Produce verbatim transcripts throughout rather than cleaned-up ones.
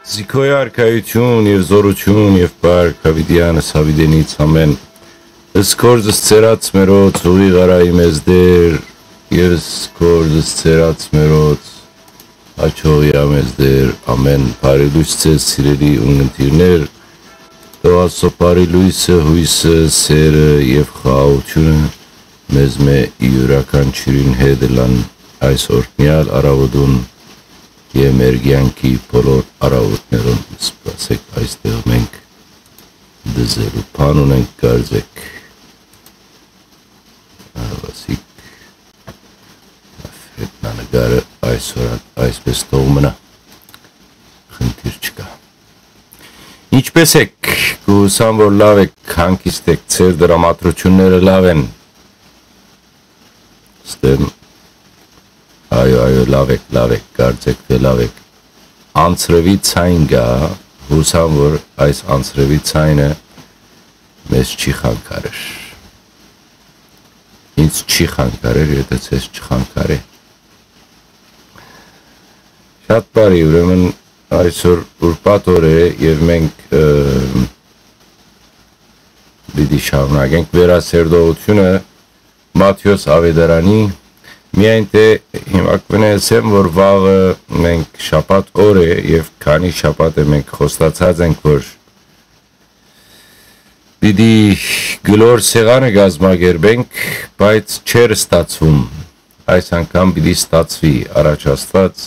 Զիքոյ արքայութիւն եւ զօրութիւն եւ պարք հաւիտեանս հաւիտենից ամեն։ Ըսկորձս ծերած մերոց ուղի գարայի մեզ Տեր, եւ ըսկորձս ծերած մերոց հաջողի ամեզ Տեր, ամեն։ Բարի լույս ձեզ, սիրելի ունգընտիրներ, թող Աստծո բարի լույսը, հույսը, սերը եւ խաղաղութիւնը մեզմէ յուրաքանչիւրին հետ ըլլան այս օրհնեալ առաւօտուն եւ մեր կեանքի բոլոր առաւօտներուն։ Սպասեք, այստեղ մենք դզելու բան ունենք, կարծեք։ Ահա, սիկ, հետնանկարը այսօր այսպես թող մնայ, խնդիր չկայ։ Ինչպէս եք, կ'ուսամ որ լաւ եք, հանգիստ եք, ձեր դրամատրութիւնները լաւ են։ Ստեմ, այո, այո, լաւ եք, լաւ եք, կարծեք թէ լաւ եք։ Անցրեւի ցայն կայ, յուսամ որ այս անցրեւի ցայնը մեզ չի խանգարեր։ Ինձ չի խանգարեր, եթէ ձեզ չխանգարէ։ Շատ բարի, ուրեմն այսօր ուրբաթ օր է եւ մենք, ը, պիտի շարունակենք վերասերտողութիւնը Մատթէոս Աւետարանի, միայն թէ հիմա կ'ըսեմ որ վաղը մենք շաբաթ օր է եւ քանի շաբաթ է մենք խոստացած ենք որ պիտի գլոր սեղանը կազմակերպենք, բայց չէր ստացվում։ Այս անգամ պիտի ստացուի, առաջ Աստուած,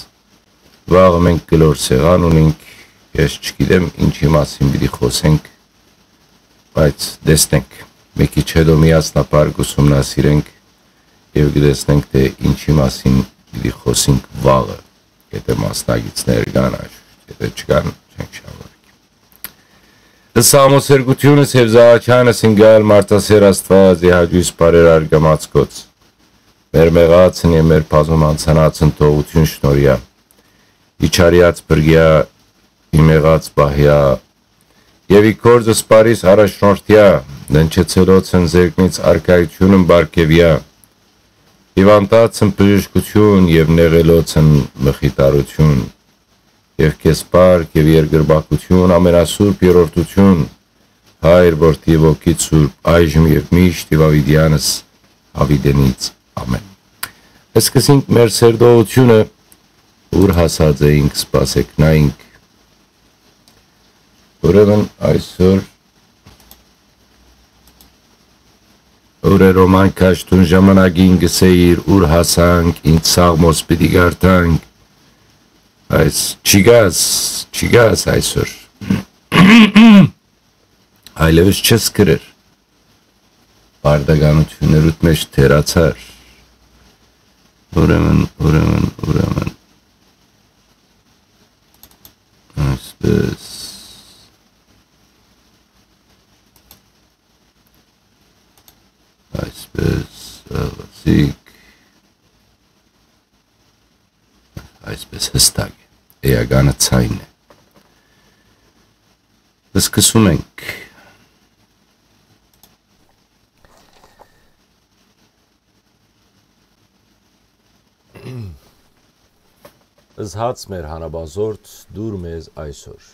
վաղը մենք գլոր սեղան ունենք, ես չգիտեմ ինչի մասին պիտի խոսենք, բայց տեսնենք, մի քիչ հետո միասնաբար կ'ուսումնասիրենք եւ կտեսնենք թէ ինչի մասին պիտի խոսենք վաղը, եթե մասնակիցներ կան, անշուշտ, եթե չկան, չենք շարունակի։ Ըսամոսերգութիւնս եւ զահաչանս ընկալ մարդասեր Աստուած, ի հաճոյս բարերար կամացկոց։ Մեր մեղածն եւ մեր բազում անցանածն թողութիւն շնորհեա, իջարեաց բրկեա, ի մեղած պահեա, եւ ի գործ սպարիս առաջնորդեա, ննջեցելոցն զերկնից արքայութիւնն պարգեւեա, հիւանդացն բժշկութիւն եւ նեղելոցն մխիթարութիւն, եւ քեզ պարք եւ երկրպագութիւն, ամենասուրբ երրորդութիւն, Հայր, Որդի, Ոգի Սուրբ, այժմ եւ միշտ եւ աւիտեանս աւիտենից։ Ամեն։ Սկսենք մեր սերտողութիւնը, ուր հասած էինք, սպասեք նայինք։ Ուրեմն այսօր օրերոման քաշտուն ժամանակին կսեիր, ուր հասանք, ինչ սաղմոս պիտի կարդանք, այս չիգաս, չիգաս այսօր։ Այլևս չես գրեր։ Պարտականութիւններուդ մէջ թերացար։ Ուրեմն, ուրեմն, ուրեմն։ Այսպես։ Այսպես, աղացիկ։ Այսպես հստակ է։ Էականը ցայնն է։ Սկսում ենք։ Զհաց մեր հանապազորդ, դուր մեզ այսօր։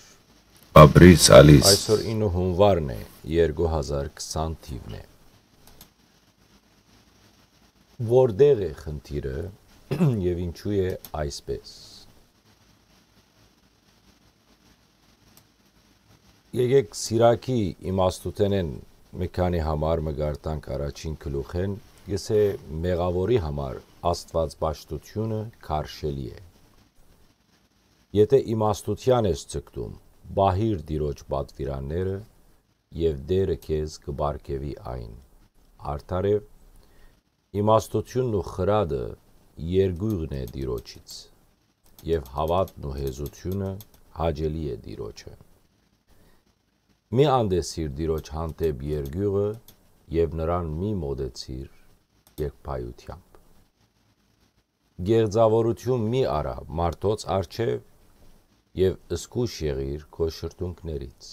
Ապրիս ալիս։ Այսօր ինը հունվարն է, երկու հազար քսան թիվն է։ Որտեղ է խնդիրը եւ ինչու է այսպես։ Եկեք Սիրակի իմաստութենէն մի քանի համար մը գարտանք առաջին գլուխեն, գսե մեղաւորի համար Աստուած պաշտութիւնը քարշելի է։ Եթե իմաստութեան ես ձգտում, պահիր Տիրոջ պատվիրանները եւ Տերը քեզ կը պարգեւի այն։ Արդարեւ, իմաստութիւնն ու խրատը երկուղն է Տիրոջից, եւ հաւատն ու հեզութիւնը հաճելի է Տիրոջը։ Մի անտեսիր Տիրոջ հանդէպ երկուղը եւ նրան մի մոտեցիր երկբայութեամբ։ Գեղձաւորութիւն մի արա մարդոց առջեւ եւ զգոյշ եղիր քո շրթունքներից։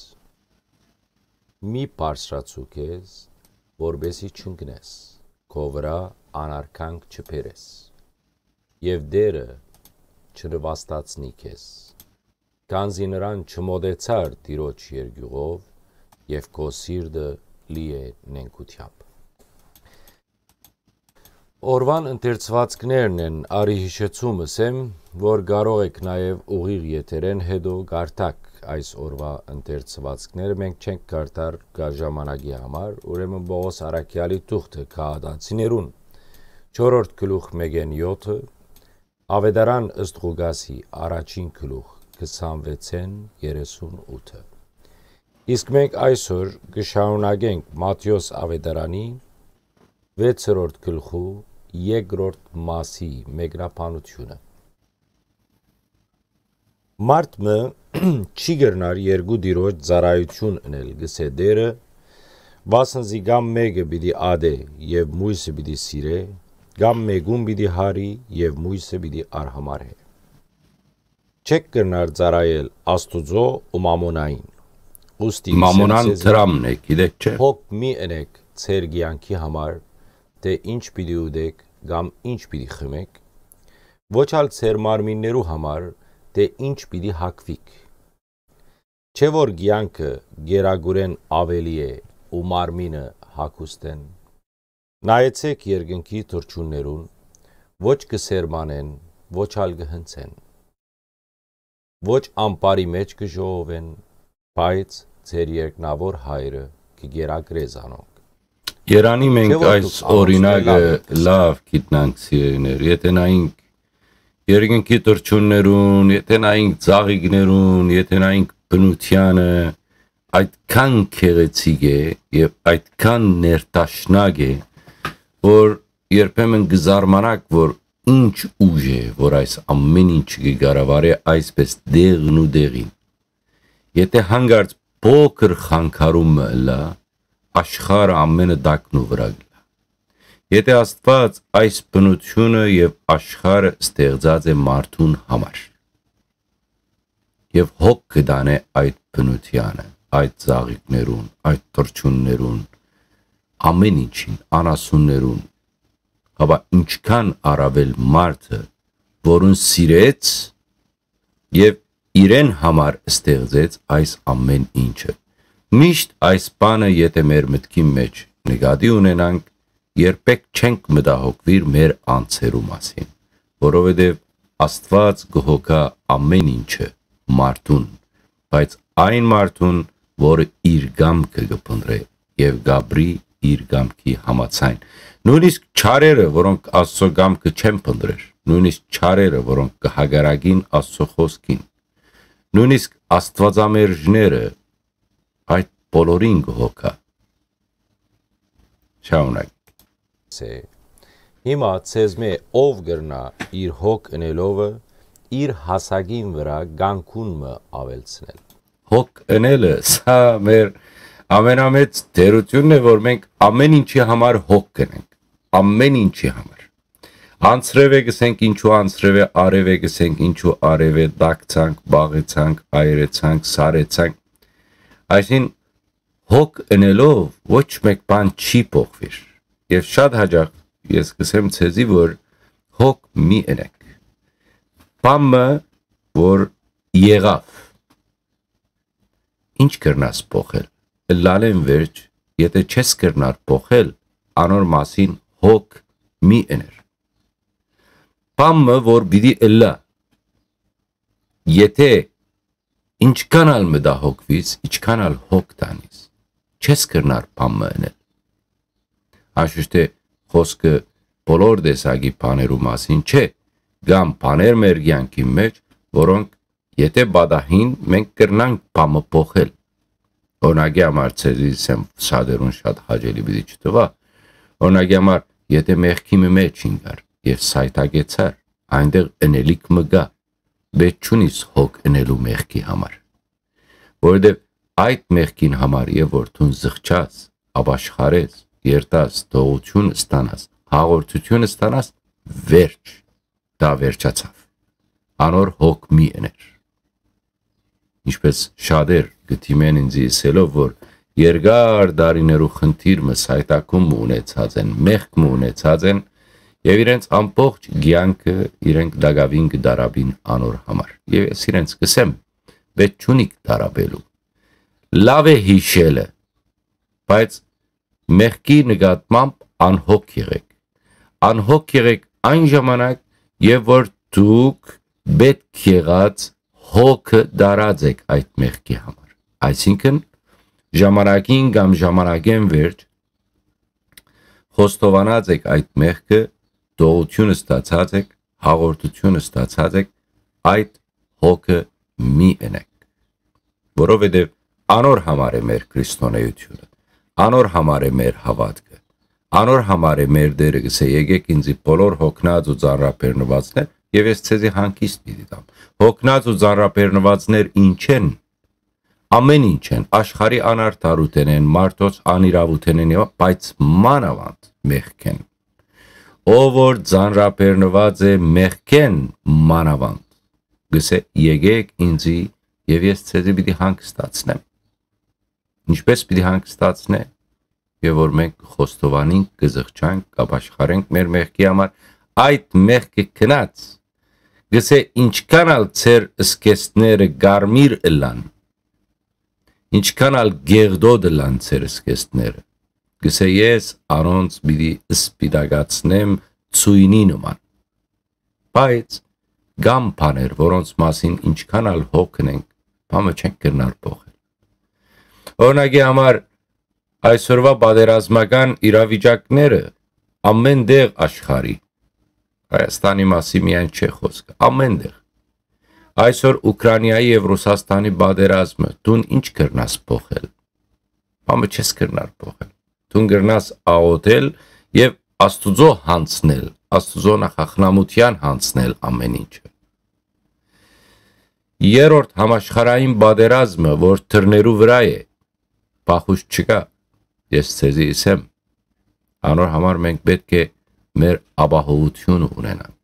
Մի բարձրացու քեզ, որպեսզի չընկնես, քո վրայ անարգանք չբերես, եւ Տերը չնուաստացնի քեզ։ քանզի նրան չմոտեցար Տիրոջ երկիւղով, եւ քո սիրտը լի է նենգութեամբ։ Օրուան ընթերցուածքներն են, արի յիշեցում ըսեմ, որ կարող էք նաեւ ուղիղ եթերէն հետո կարդաք այս օրուայ ընթերցուածքները, մենք չենք կարդար կա ժամանակի համար, ուրեմն Պողոս Առաքեալի թուղթը քաղատացիներուն, չորրորդ գլուխ մէկէն յոթը, Աւետարան ըստ Ղուկասի, առաջին գլուխ, քսանվեցէն երեսուն ութը։ Իսկ մենք այսօր կը շարունակենք Մատթէոս Աւետարանի վեցերորդ գլխու երկրորդ մասի մեկնաբանութիւնը։ Մարդ մը չի կրնար երկու տիրոջ ծառայութիւն ընել, գսէ Տէրը, վասն զի կամ մէկը պիտի ատէ եւ մոյսը պիտի սիրէ, կամ մէկուն պիտի հարի եւ մոյսը պիտի արհամարհէ։ Չէք կրնար ծառայել Աստուծոյ ու մամոնային։ Ուստի կ'ըսեմ Մամոնան ձեզի, դրամն է, գիտեք չէ։ Հոգ մի ընեք ձեր կեանքի համար, թէ ինչ պիտի ուտեք կամ ինչ պիտի խմեք, ոչ ալ ձեր մարմիններու համար, թէ ինչ պիտի հագուիք։ Չէ՞ որ կեանքը գերագուրէն աւելի է ու մարմինը հագուստէն։ Նայեցէք երկնքի թռչուններուն, ոչ կը սերմանեն, ոչ ալ կը հնձեն, ոչ ամպարի մէջ կը ժողովեն, բայց ձեր երկնաւոր Հայրը կը կերակրէ զանոնք։ Երանի մենք Չէ՞ որ այս դուք անոնցմէ օրինակը լաւ եք, լաւ գիտնանք, սիրելիներ, եթե նայենք երկնքի թռչուններուն, եթե նայենք ծաղիկներուն, եթե նայենք բնությանը, այդքան գեղեցիկ է եւ այդքան ներդաշնակ է, որ երբեմն կը զարմանաք, որ ինչ ուժ է, որ այս ամէն ինչը կը կառավարէ այսպես դեղն ու դեղին։ Եթե հանկարծ փոքր խանգարում մը ըլլայ, աշխարհը ամէնը տակնու վրայ կ'ըլլայ։ Եթե Աստուած այս բնութիւնը եւ աշխարհը ստեղծած է մարդուն համար, եւ հոգ կը տանէ այդ բնությանը, այդ ծաղիկներուն, այդ թռչուններուն, ամէն ինչին, անասուններուն, հապա ինչքան առաւել մարդը, որուն սիրեց եւ իրեն համար ստեղծեց այս ամէն ինչը։ Միշտ այս բանը, եթե մեր մտքին մէջ նկատի ունենանք, երբեք չենք մտահոգուիր մեր անձերու մասին, որովհետեւ Աստուած կը հոգայ ամէն ինչը մարդուն, բայց այն մարդուն, որը իր կամքը կը փնտռէ եւ կ'ապրի իր կամքի համաձայն։ Նոյնիսկ չարերը, որոնք Աստուծոյ կամքը չեն փնտռեր, նոյնիսկ չարերը, որոնք կը հակառակին Աստուծոյ խօսքին, նոյնիսկ աստուածամերժները, այդ բոլորին կը հոգայ։ Շարունակ։ Սե։ Հիմա ձեզմէ ով կրնայ իր հոգ ընելովը իր հասակին վրայ կանկուն մը աւելցնել։ Հոգ ընելը, սա մեր ամենամեծ թերությունն է, որ մենք ամէն ինչի համար հոգ կնենք, ամէն ինչի համար։ Անձրեւէ գսենք ինչու անձրեւէ, արեւէ գսենք ինչու արեւէ, տակցանք, բաղեցանք, այրեցանք, սարեցանք։ Այսին հոգ ընելով ոչ մեկ բան չի փոխվիր։ Եւ շատ հաճախ ես կսեմ ձեզի, որ հոգ մի ընեք։ Բան մը, որ եղավ, ինչ կրնաս փոխել։ Ըլլալեն վերջ, եթե չես կրնար փոխել, անոր մասին հոգ մի ըներ։ Բան մը, որ պիտի ըլլայ, եթե ինչքան ալ մտահոգվիս, ինչքան ալ հոգ տանիս, չես կրնար բան մը ընել։ Անշուշտ է, խոսքը բոլոր տեսակի բաներու մասին չէ, կան բաներ մեր կեանքի մէջ, որոնք եթե պատահին, մենք կրնանք բան մը փոխել։ Օրինակի համար, ձեզի սեմ շատերուն շատ հաճելի պիտի չթվայ։ Օրինակի համար, եթե մեղքի մը մէջ ինկար եւ սայթակեցար, այնտեղ ընելիք մը կա, վեճ չունիս հոգ ընելու մեղքի համար, որովհետեւ այդ մեղքին համար եւ որ դուն զղջաս, ապաշխարես, երթաս, թողություն ստանաս, հաղորդություն ստանաս, վերջ, դա վերջացավ։ Անոր հոգ մի ըներ։ Ինչպես շատեր կը դիմեն ինձի ըսելով, որ երկար տարիներու խնդիր մը, սայթակում մը ունեցած են, մեղք մը ունեցած են, եւ իրենց ամբողջ կեանքը իրենք տակաւին կը դարապին անոր համար։ Եւ ես իրենց կսեմ, վեճ չունիք տառապելու։ Լաւ է յիշելը, բայց մեղքի նկատմամբ անհոգ եղէք։ Անհոգ եղէք այն ժամանակ, երբ որ դուք պէտք եղած հոգը դարած եք այդ մեղքի համար։ Այսինքն, ժամանակին կամ ժամանակէն վերջ խոստովանած եք այդ մեղքը, դողութիւն ստացած եք, հաղորդութիւն ստացած եք, այդ հոգը մի ընեք, որովհետեւ անոր համար է մեր քրիստոնէութիւնը, անոր համար է մեր հաւատքը, անոր համար է մեր Տէրը գսէ. «Եկեք ինծի բոլոր հոգնած ու ծանրաբեռնուածներ, եւ ես ձեզի հանգիստ պիտի տամ»։ Հոգնած ու ծանրաբեռնուածներ ի՞նչ են։ Ամէն ինչ են, աշխարհի անարդարութենէն, մարդոց անիրաւութենէն, եւ, բայց մանաւանդ մեղքէն։ Ով որ ծանրաբեռնուած է մեղքէն մանաւանդ, գսէ. «Եկեք ինծի, եւ ես ձեզի պիտի հանգստացնեմ»։ Ինչպէս պիտի հանգստացնէ, երբ որ մենք խոստովանենք, կը զղջանք, կապաշխարենք մեր մեղքի համար, այդ մեղքը քնած, գսէ. «Ինչքան ալ ձեր սկեստները կարմիր ըլլան, ինչքան ալ գեղդոտ ըլլան ձեր սկեստները, գսէ, ես անոնց պիտի սպիտակացնեմ ցոյնի նման»։ Բայց կան բաներ, որոնց մասին ինչքան ալ հոգնենք, բանը չենք կրնար փոխել։ Օրինակի համար, այսօրվա պատերազմական իրավիճակները ամէն տեղ աշխարհի, Հայաստանի մասին միայն չէ խոսքը, ամէն տեղ։ Այսօր Ուկրաինայի եւ Ռուսաստանի պատերազմը, դուն ինչ կրնաս փոխել։ Բանը չես կրնար փոխել։ Դուն կրնաս աղոթել եւ Աստուծոյ յանձնել, Աստուծոյ նախախնամութեան յանձնել ամէն ինչը։ Երրորդ համաշխարհային պատերազմը, որ դռներու վրայ է, փախուստ չկայ, ես ձեզի ըսեմ, անոր համար մենք պէտք է մեր ապահովութիւնը ունենանք։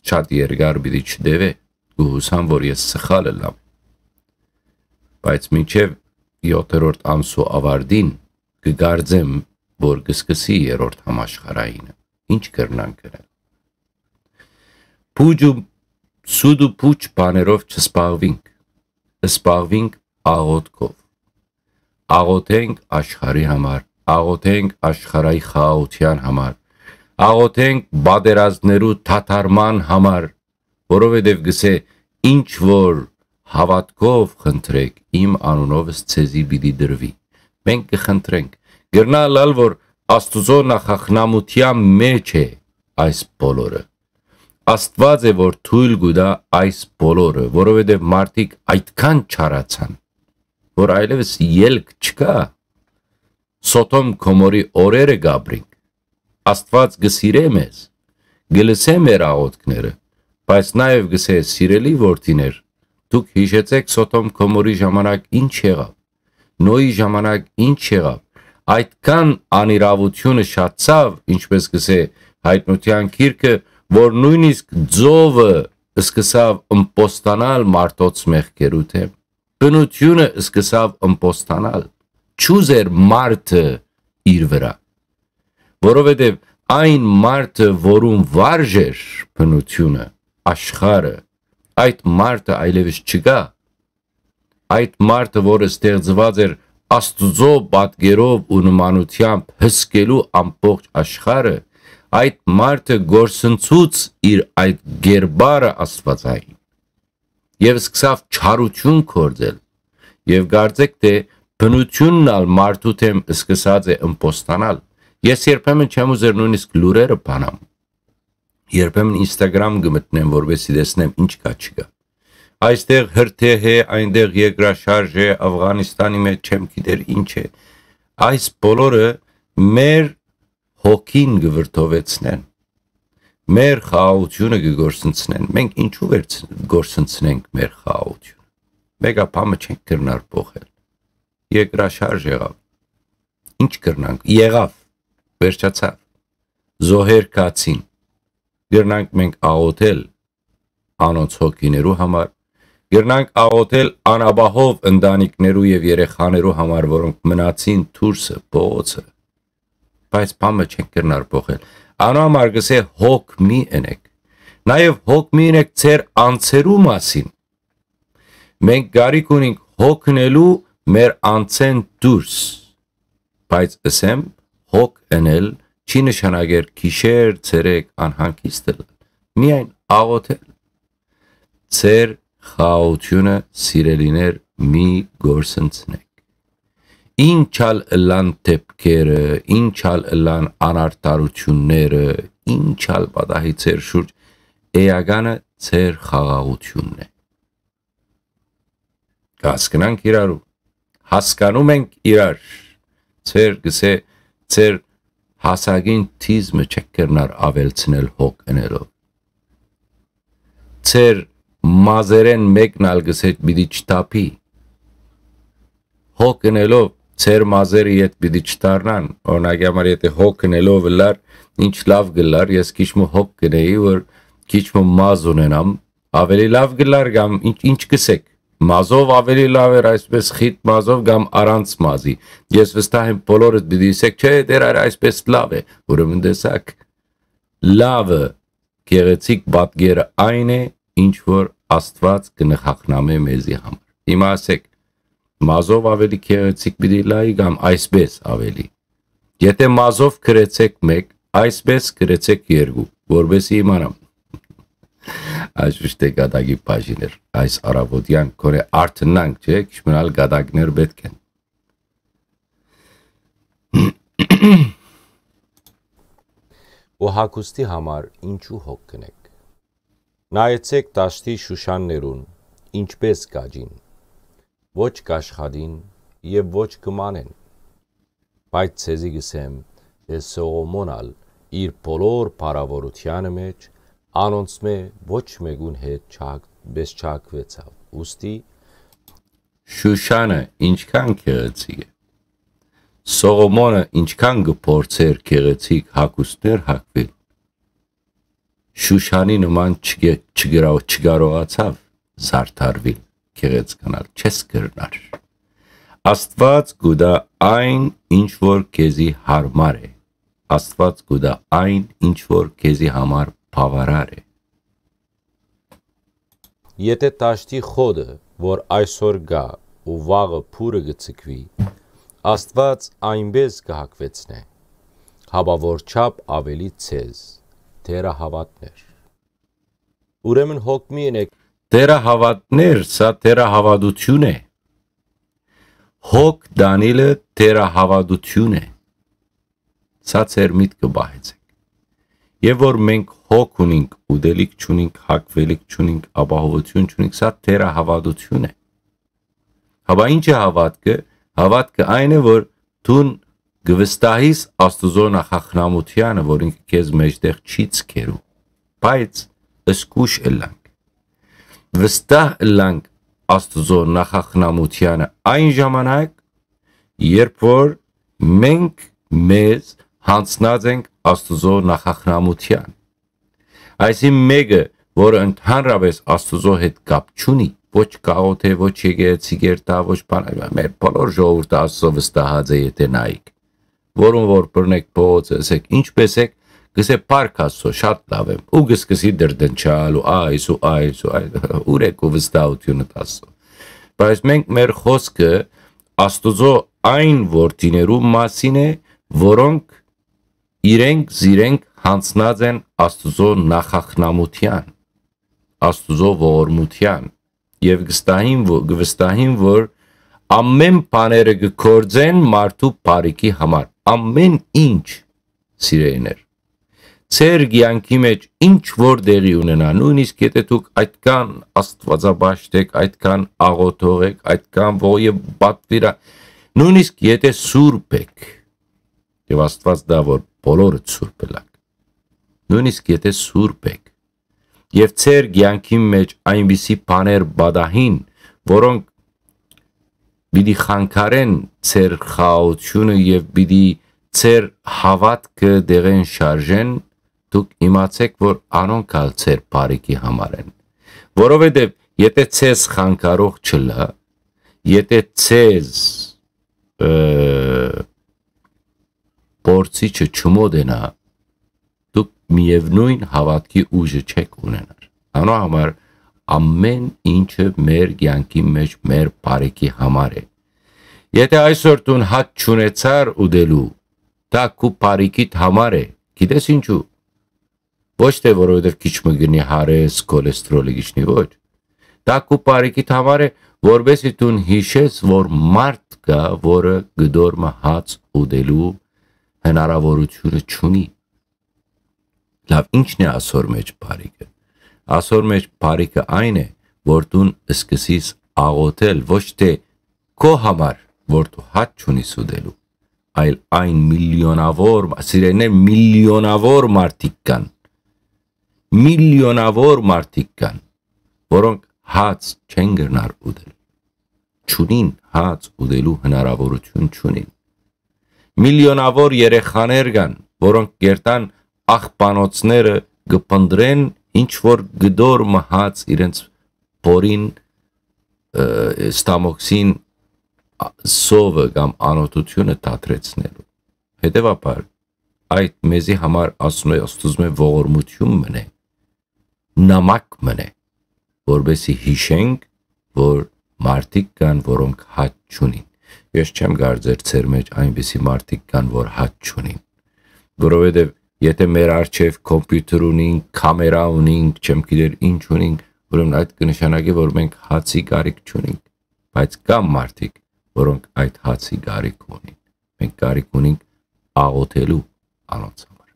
Շատ երկար պիտի չտեւէ, կը յուսամ, որ ես սխալ ըլլամ, բայց մինչեւ եթերորդ ամսու աւարտին կը կարծեմ, որ կը սկսի երրորդ համաշխարհայինը։ Ինչ կրնանք ընել։ Փուճ ու սուտ ու փուճ բաներով չսպաղվինք, սպաղվինք աղոթքով։ Աղոթենք աշխարհի համար, աղոթենք աշխարհի խաղաղութեան համար, աղոթենք պատերազմներու դադարման համար, որովհետեւ գսէ. «Ինչ որ հաւատքով խնդրէք, իմ անունովս ձեզի պիտի տրուի»։ Մենք կը խնդրենք, կրնայ ըլլալ, որ Աստուծոյ նախախնամութեան մէջ է այս բոլորը։ Աստուած է, որ թոյլ կու տայ այս բոլորը, որովհետեւ մարդիկ այդքան չարացան, որ այլեւս ելք չկայ։ Սոդոմ Գոմորի օրերը կ'ապրինք։ Աստուած կը սիրէ մեզ, կը լսէ մեր աղոթքները, բայց նաեւ կ'ըսէ. «Սիրելի որդիներ, դուք յիշեցէք Սոդոմ Գոմորի ժամանակ ինչ եղաւ, Նոյի ժամանակ ինչ եղաւ։ Այդքան անիրաւութիւնը շատցաւ, ինչպէս կ'ըսէ Հայտնութեան գիրքը, որ նոյնիսկ ծովը սկսաւ ըմպոստանալ մարդոց մեղքերու դէմ։ Բնութիւնը սկսաւ ըմպոստանալ, չուզեր մարդը իր վրայ, որովհետեւ այն մարդը, որուն վարժ էր բնութիւնը, աշխարհը, այդ մարդը այլեւս չկայ։ Այդ մարդը, որը ստեղծուած էր Աստուծոյ պատկերով ու նմանութեամբ հսկելու ամբողջ աշխարհը, այդ մարդը կորսնցուց իր այդ գերբարը աստուածային եւ սկսաւ չարութիւն գործել, եւ կարծէք թէ բնութիւնն ալ մարդու դէմ սկսած է ըմպոստանալ։ Ես երբեմն չեմ ուզեր նոյնիսկ լուրերը բանամ, երբեմն Instagram կը մտնեմ, որպեսզի տեսնեմ ինչ կայ, չկայ։ Այստեղ հրդեհ է, այնտեղ երկրաշարժ է, Աֆղանիստանի մեջ չեմ գիտեր ինչ է։ Այս բոլորը մեր հոգին կը վրդովեցնեն, մեր խաղաղութիւնը կը կորսնցնեն։ Մենք ինչու՞ վերց-, կորսնցնենք մեր խաղաղութիւնը։ Մեկը բանը չենք կրնար փոխել։ Երկրաշարժ եղաւ։ Ինչ կրնանք։ Եղաւ, վերջացաւ։ Զոհեր կացին։ Կրնանք մենք աղոթել անոնց հոգիներու համար, կրնանք աղոթել անապահով ընտանիքներու եւ երեխաներու համար, որոնք մնացին դուրսը, փողոցը, բայց բանը չենք կրնար փոխել։ Անոր համար կ'ըսէ. «Հոգ մի ընեք, նաեւ հոգ մի ընեք ձեր անձերու մասին, Մենք կարիք ունենք հոգնելու մեր անցէն դուրս, բայց ըսեմ, հոգ ընել չի նշանակեր գիշեր, ցերեկ անհանգիստ ըլլալ, միայն աղոթել։ Ձեր խաղաղութիւնը, սիրելիներ, մի գործընծնէք։ Ինչ ալ ըլլան դէպքերը, ինչ ալ ըլլան անարդարութիւնները, ինչ ալ պատահի ձեր շուրջ, էականը ձեր խաղաղութիւնն է։ Կ'հասկնանք իրարու, հասկանում ենք իրար, ձեր, գսե, ձեր հասակին թիզմը չեք կրնար աւելցնել հոգ ընելով։ Ձեր մազերէն մէկն ալ գսե պիտի չթափի։ Հոգ ընելով ձեր մազերը յետ պիտի չդառնան։ Օրինակի համար, եթե հոգ ընելով ըլլար, ինչ լաւ կ'ըլլար, ես քիչ մը հոգ կ'ընեի, որ քիչ մը մազ ունենամ, ավելի լաւ կ'ըլլար կամ ինչ, ինչ կ'ըսեք, մազով ավելի լաւ էր, այսպես խիտ մազով կամ առանց մազի։ Ես վստահ եմ, բոլորդ պիտի ըսեք, չէ, դեռ այր այսպես լաւ է, ուրեմն տեսակ, լավը, գեղեցիկ պատկերը այն է, ինչ որ Աստուած կը նխախնամէ մեզի համար։ Հիմա ասեք, մազով ավելի գեղեցիկ պիտի լայի կամ այսպես ավելի։ Եթե մազով գրեցեք մեկ, այսպես գրեցեք երկու, որպեսզի իմանամ։ Այս միշտ է գատակի բաժիներ, այս առավոտեան քոնե արթնանք, չէ՞, քիչ մնալ գատակներ պէտք են։ Ու հագուստի համար ինչու հոգ կնեք։ Նայեցեք դաշտի շուշաններուն, ինչպես կաճին, ոչ կաշխատին եւ ոչ կմանեն, բայց ձեզի գսեմ, թէ Սողոմոն ալ իր բոլոր փառաւորութեանը մէջ անոնցմէ ոչ մէկուն հետ չհագ-, պես չհագուեցաւ, ուստի Շուշանը ինչքան գեղեցիկ է, Սողոմոնը ինչքան կը փորձէր գեղեցիկ հագուստներ հագուիլ, Շուշանի նման չկե-, չկրաւ-, չկարողացաւ զարդարուիլ, գեղեցկանալ չես կրնար։ Աստուած կու տայ այն, ինչ որ քեզի յարմար է, Աստուած կու տայ այն, ինչ որ քեզի համար բաւարար է։ Եթե տաշտի խոտը, որ այսօր կայ ու վաղը փուրը կը ցկուի, Աստուած այնպէս կը հագուեցնէ, հապա որ չափ ավելի ձեզ, թերահաւատներ։ Ուրեմն հոգ մի ընեք։ Թերահաւատներ, սա թերահաւատութիւն է։ Հոգ տանիլը թերահաւատութիւն է։ Սա ձեր միտքը պահեցէք։ Եւ որ մենք հոգ ունինք, ուտելիք չունինք, հագուելիք չունինք, ապահովութիւն չունինք, սա թերահաւատութիւն է։ Հապա ի՞նչ է հաւատքը։ Հաւատքը այն է, որ դուն կը վստահիս Աստուծոյ նախախնամութեանը, որ ինքը քեզ մէջտեղ չի ցկերու, բայց զգուշ ըլլանք։ Վստահ ըլլանք Աստուծոյ նախախնամութեանը այն ժամանակ, երբ որ մենք մեզ յանձնած ենք Աստուծոյ նախախնամութեան։ Այսինքն մէկը, որը ընդհանրապես Աստուծոյ հետ կապ չունի, ոչ կաղոթէ, ոչ եկեղեցի կերտայ, ոչ բան, այլ մեր բոլոր ժողովուրդը Աստուծոյ վստահած է, եթե նայիք, որուն որ բռնեք փողոցը, ասեք, «Ինչպե՞ս եք», կ'ըսէ, «Փառք Աստուծոյ, շատ լաւ եմ», ու կ'սկսի դրդնչալ ու այս ու այս ու այս, «Ո՞ւր եք ու վստահութիւնդ Աստուծոյ»։ Բայց մենք մեր խօսքը Աստուծոյ այն որդիներու մասին է, որոնք իրենք զիրենք յանձնած են Աստուծոյ նախախնամութեան, Աստուծոյ ողորմութեան, եւ կստահին, ո-, կվստահին, որ ամեն բաները կգործեն մարդու բարիքի համար, ամեն ինչ, սիրելիներ։ Ձեր կեանքի մեջ ինչ որ տեղի ունենայ, նոյնիսկ եթե դուք այդքան աստուածապաշտ եք, այդքան աղոթող եք, այդքան ո-, եւ պատվիրա-, նոյնիսկ եթե սուրբ եք, եւ Աստուած տայ, որ բոլորը սուրբ ըլլաք, նոյնիսկ եթե սուրբ եք, եւ ձեր կեանքի մեջ այնպիսի բաներ պատահին, որոնք պիտի խանգարեն ձեր խաղաղութիւնը եւ պիտի ձեր հաւատքը դեղեն շարժեն, դուք իմացէք, որ անոնք ալ ձեր բարիքի համար են։ Որովհետեւ եթե ձեզ խանգարող չըլլայ, եթե ձեզ, ը, փորձիչը չմոտենայ, դուք միեւնոյն հաւատքի ուժը չեք ունենար։ Անոր համար Ամեն ինչը մեր կեանքի մէջ մեր բարիքի համար է։ Եթե այսօր դուն հաց չունեցար ուտելու, դա քու բարիքիդ համար է։ Գիտես ինչու։ Ոչ թե որովհետև քիչ մը գնի հարես, քոլեստրոլը գիչնի, ոչ։ Դա քու բարիքիդ համար է, որպեսզի դուն յիշես, որ մարդ կայ, որը կտոր մը հաց ուտելու հնարավորութիւնը չունի։ Լավ, ի՞նչն է ասոր մէջ բարիքը։ Ասոր մէջ բարիքը այն է, որ դուն սկսես աղոթել ոչ թե քո համար, որ դու հաց չունիս ուտելու, այլ այն միլիոնաւոր, սիրելիներ, միլիոնաւոր մարդիկ կան, միլիոնաւոր մարդիկ կան, որոնք հաց չեն կրնար ուտել, չունին հաց ուտելու հնարավորութիւն չունին։ Միլիոնաւոր երեխաներ կան, որոնք կերտան աղբանոցները կը փնտռեն, ինչ որ կտոր մը հաց իրենց փորին, ը, ստամոքսին, ա, սովը կամ անօթութիւնը դադրեցնելու։ Հետեւաբար, այդ մեզի համար, ասում է, Աստուծմէ ողորմութիւն մնե, նամակ մնե, որպեսզի յիշենք, որ մարդիկ կան, որոնք հաց չունին։ Ես չեմ կարծեր ձեր մէջ այնպիսի մարդիկ կան, որ հաց չունին, որովհետև եթե մեր առջև կոմպիուտեր ունինք, կամերա ունինք, չեմ գիտեր ինչ ունինք, ուրեմն այդ կը նշանակի, որ մենք հացի կարիք չունինք, բայց կան մարդիկ, որոնք այդ հացի կարիք ունին։ Մենք կարիք ունինք աղոթելու անոնց համար։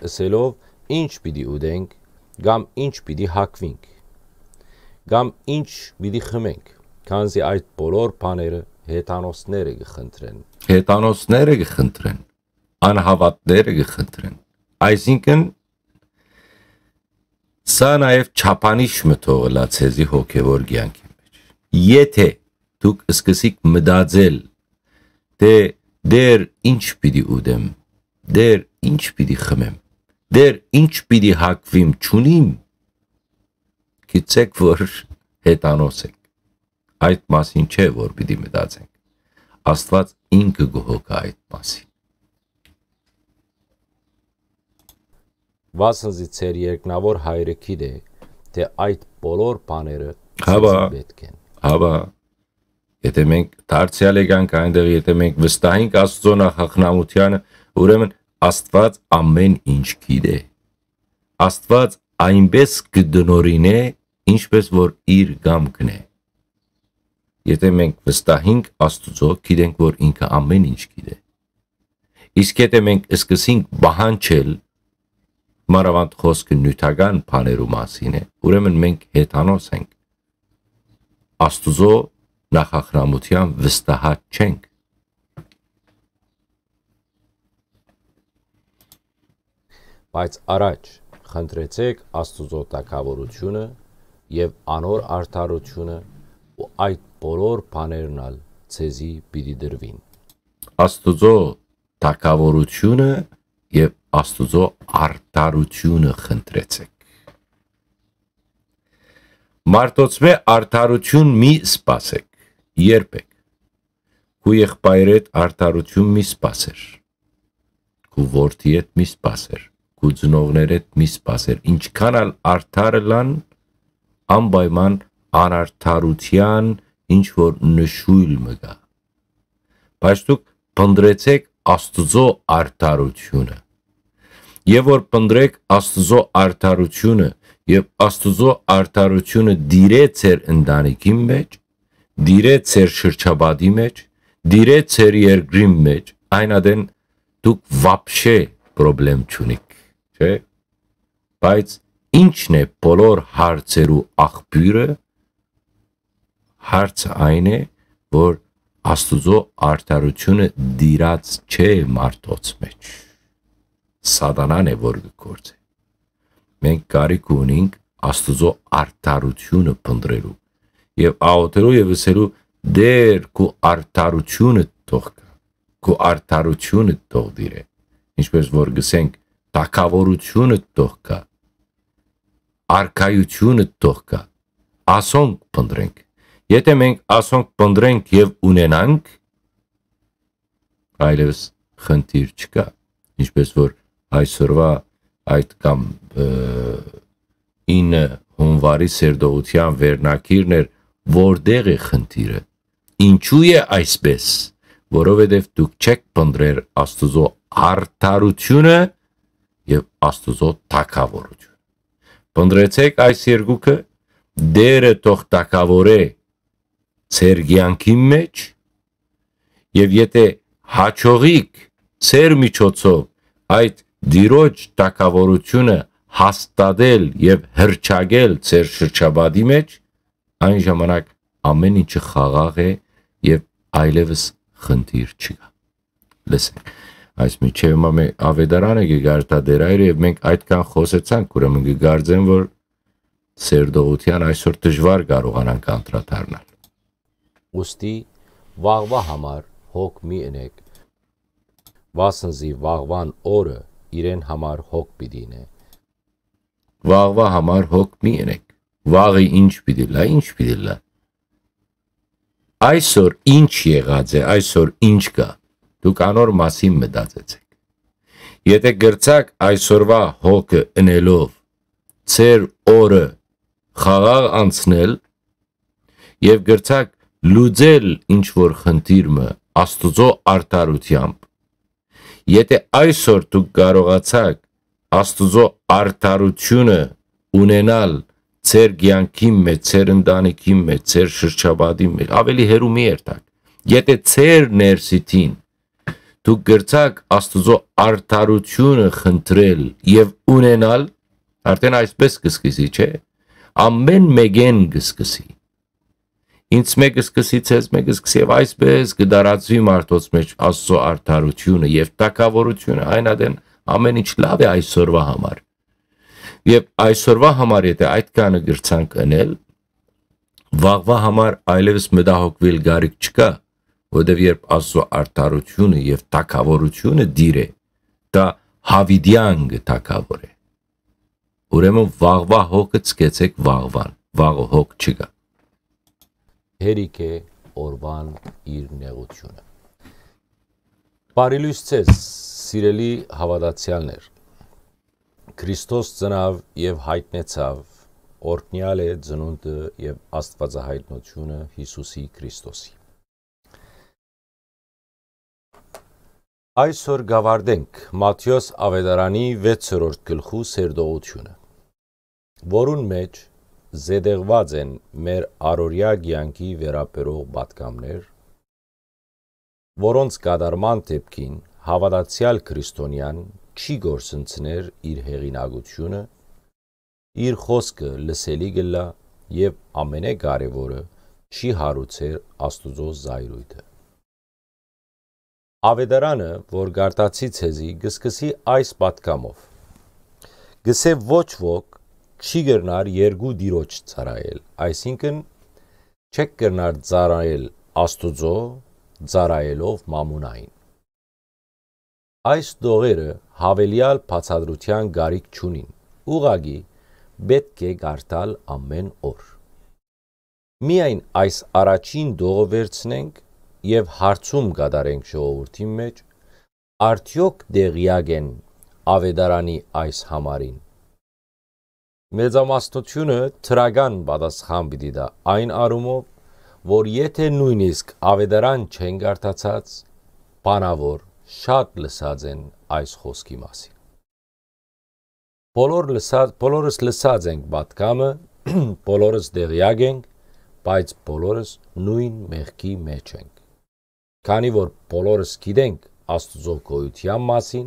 Ըսելով, ինչ պիտի ուտենք, կամ ինչ պիտի հագուինք, կամ ինչ պիտի խմենք, քանզի այդ բոլոր բաները հեթանոսները կը խնդրեն։ Հեթանոսները կը խնդրեն, անհաւատները կը խնդրեն։ Այսինքն, սա նաեւ չափանիշ մը թող ըլլայ ձեզի հոգեւոր կեանքի մէջ։ Եթե դուք սկսիք մտածել, թէ «Դեր ինչ պիտի ուտեմ, դեր ինչ պիտի խմեմ, դեր ինչ պիտի հագուիմ», չունիմ, գիտցէք, որ հեթանոս եք։ Այդ մասին չէ, որ պիտի մտածենք։ Աստուած ինքը կը հոգայ այդ մասին։ Վասն զի ձեր երկնաւոր Հայրը գիտէ, թէ այդ բոլոր բաները Հապա, ձեզի պէտք են։ Հապա, եթե մենք դարձեալ եկանք այնտեղ, եթե մենք վստահենք Աստուծոյ նախախնամութեանը, ուրեմն Աստուած ամէն ինչ գիտէ։ Աստուած այնպէս կը տնօրինէ, ինչպէս որ իր կամքն է։ Եթե մենք վստահենք Աստուծոյ, գիտենք, որ ինքը ամէն ինչ գիտէ։ Իսկ եթե մենք սկսենք պահանջել, մանաւանդ խօսքը նիւթական բաներու մասին է, ուրեմն մենք հեթանոս ենք, Աստուծոյ նախախնամութեան վստահած չենք։ Բայց առաջ խնդրեցէք Աստուծոյ թագաւորութիւնը եւ անոր արդարութիւնը, ու այդ բոլոր բաներն ալ ձեզի պիտի տրուին։ Աստուծոյ թագաւորութիւնը եւ Աստուծոյ արդարութիւնը խնդրեցէք։ Մարդոցմէ արդարութիւն մի սպասէք, երբեք։ Քու եղբայրէդ արդարութիւն մի սպասեր, քու որդիէդ մի սպասեր, քու ծնողներէդ մի սպասեր, ինչքան ալ արդար ըլլան, անպայման անարդարութեան ինչ որ նշոյլ մը կայ։ Բայց դուք փնտռեցէք Աստուծոյ արդարութիւնը։ Եւ որ փնտռէք Աստուծոյ արդարութիւնը, եւ Աստուծոյ արդարութիւնը տիրէ ձեր ընտանիքին մէջ, տիրէ ձեր շրջապատի մէջ, տիրէ ձեր երկրին մէջ, այն ատեն դուք вообще պրոբլեմ չունիք, չէ՞։ Բայց ի՞նչն է բոլոր հարցերու աղբիւրը։ Հարցը այն է, որ Աստուծոյ արդարութիւնը տիրած չէ մարդոց մէջ։ Սատանան է, որ կը գործէ։ Մենք կարիք ունենք Աստուծոյ արդարութիւնը փնտռելու եւ աղոթելու եւ ըսելու. «Տէր, քու արդարութիւնը թող գայ, քու արդարութիւնը թող տիրէ», ինչպես որ գսենք, թագաւորութիւնը թող գայ, արքայութիւնը թող գայ, ասոնք փնտռենք։ Եթե մենք ասոնք փնտռենք եւ ունենանք, այլեւս խնդիր չկայ, ինչպես որ այսօրվա այդ կամ, ը, ինը հունուարի սերտողութեան վերնագիրն էր, որտեղ է խնդիրը, ինչու է այսպես, որովհետև դուք չեք փնտռեր Աստուծոյ արդարութիւնը եւ Աստուծոյ թագաւորութիւնը։ Փնտռեցէք այս երկուքը, Տէրը թող թագաւորէ ձեր կեանքին մէջ, եւ եթէ հաջողիք ձեր միջոցով այդ Տիրոջ թագաւորութիւնը հաստատել եւ հռչակել ձեր շրջապատի մէջ, այն ժամանակ ամէն ինչը խաղաղ է եւ այլեւս խնդիր չկայ։ Լսենք, այս մինչեւ հիմա մէ-, Ավետարանը կը կարդայ Տէր Հայրը, եւ մենք այդքան խօսեցանք, ուրեմն կը կարծեմ, որ սերտողութեան այսօր դժուար կարողանանք անդրադառնալ։ Ուստի վաղուա համար հոգ մի ընեք, վասն զի վաղուան օրը իրեն համար հոգ պիտի ընէ։ Վաղուա համար հոգ մի ընեք։ Վաղը ինչ պիտի լա, ինչ պիտի լա։ Այսօր ինչ եղած է, այսօր ինչ կայ, դուք անոր մասին մտածեցէք։ Եթէ կրցաք այսօրվա հոգը ընելով, ձեր օրը խաղաղ անցնել եւ կրցաք լուծել ինչ որ խնդիր մը Աստուծոյ արդարութեամբ, եթէ այսօր դուք կարողացաք Աստուծոյ արդարութիւնը ունենալ ձեր կեանքին մէջ, ձեր ընտանիքին մէջ, ձեր շրջապատին մէջ, ավելի հեռու մի երթաք։ Եթէ ձեր ներսիդին դուք կրցաք Աստուծոյ արդարութիւնը խնդրել եւ ունենալ, արդեն այսպես կը սկսի, չէ՞։ Ամէն մէկէն կը սկսի։ Ինձմէ կը սկսի, ձեզմէ կը սկսի, եւ այսպես կը տարածուի մարդոց մէջ Աստուծոյ արդարութիւնը եւ թագաւորութիւնը, այն ատեն ամէն ինչ լաւ է այսօրվա համար։ Եւ այսօրվա համար եթէ այդքանը կրցանք ընել, վաղվա համար այլեւս մտահոգուիլ կարիք չկայ, որովհետեւ երբ Աստուծոյ արդարութիւնը եւ թագաւորութիւնը տիրէ, դա յաւիտեան կը թագաւորէ։ Ուրեմն վաղվա հոգը ցկեցէք վաղվան, վաղը հոգ չկայ։ Հերիք է օրուան իր նեղութիւնը։ Բարի լոյս ձեզ, սիրելի հաւատացեալներ։ Քրիստոս ծնաւ եւ յայտնեցաւ, օրհնեալ է ծնունդը եւ աստուածահայտնութիւնը Յիսուսի Քրիստոսի։ Այսօր կ'աւարտենք Մատթէոս Աւետարանի վեցերորդ գլխու սերտողութիւնը, որուն մէջ զետեղուած են մեր առօրեայ կեանքի վերաբերող պատգամներ, որոնց կատարման դէպքին հաւատացեալ քրիստոնեան չի կորսնցներ իր հեղինակութիւնը, իր խօսքը լսելի կ'ըլլայ եւ ամենակարեւորը՝ չի հարուցեր Աստուծոյ զայրոյթը։ Աւետարանը, որ կարդացի ձեզի, կը սկսի այս պատգամով. «Կ'ըսէ, ոչ ոք չի կրնար երկու տիրոջ ծառայել», այսինքն՝ չեք կրնար ծառայել Աստուծոյ, ծառայելով մամոնային։ Այս տողերը յաւելեալ բացատրութեան կարիք չունին, ուղղակի պէտք է կարդալ ամէն օր։ Միայն այս առաջին տողը վերցնենք եւ հարցում կատարենք ժողովուրդին մէջ, արդեօք տեղեակ են Աւետարանի այս համարին։ Մեծամասնութիւնը դրական պատասխան պիտի տայ այն առումով, որ եթէ նոյնիսկ Աւետարան չեն կարդացած, բանաւոր շատ լսած են այս խօսքի մասին։ Բոլոր լսած, բոլորս լսած ենք պատգամը, բոլորս տեղեակ ենք, բայց բոլորս նոյն մեղքի մէջ ենք։ Քանի որ բոլորս գիտենք Աստուծոյ գոյութեան մասին,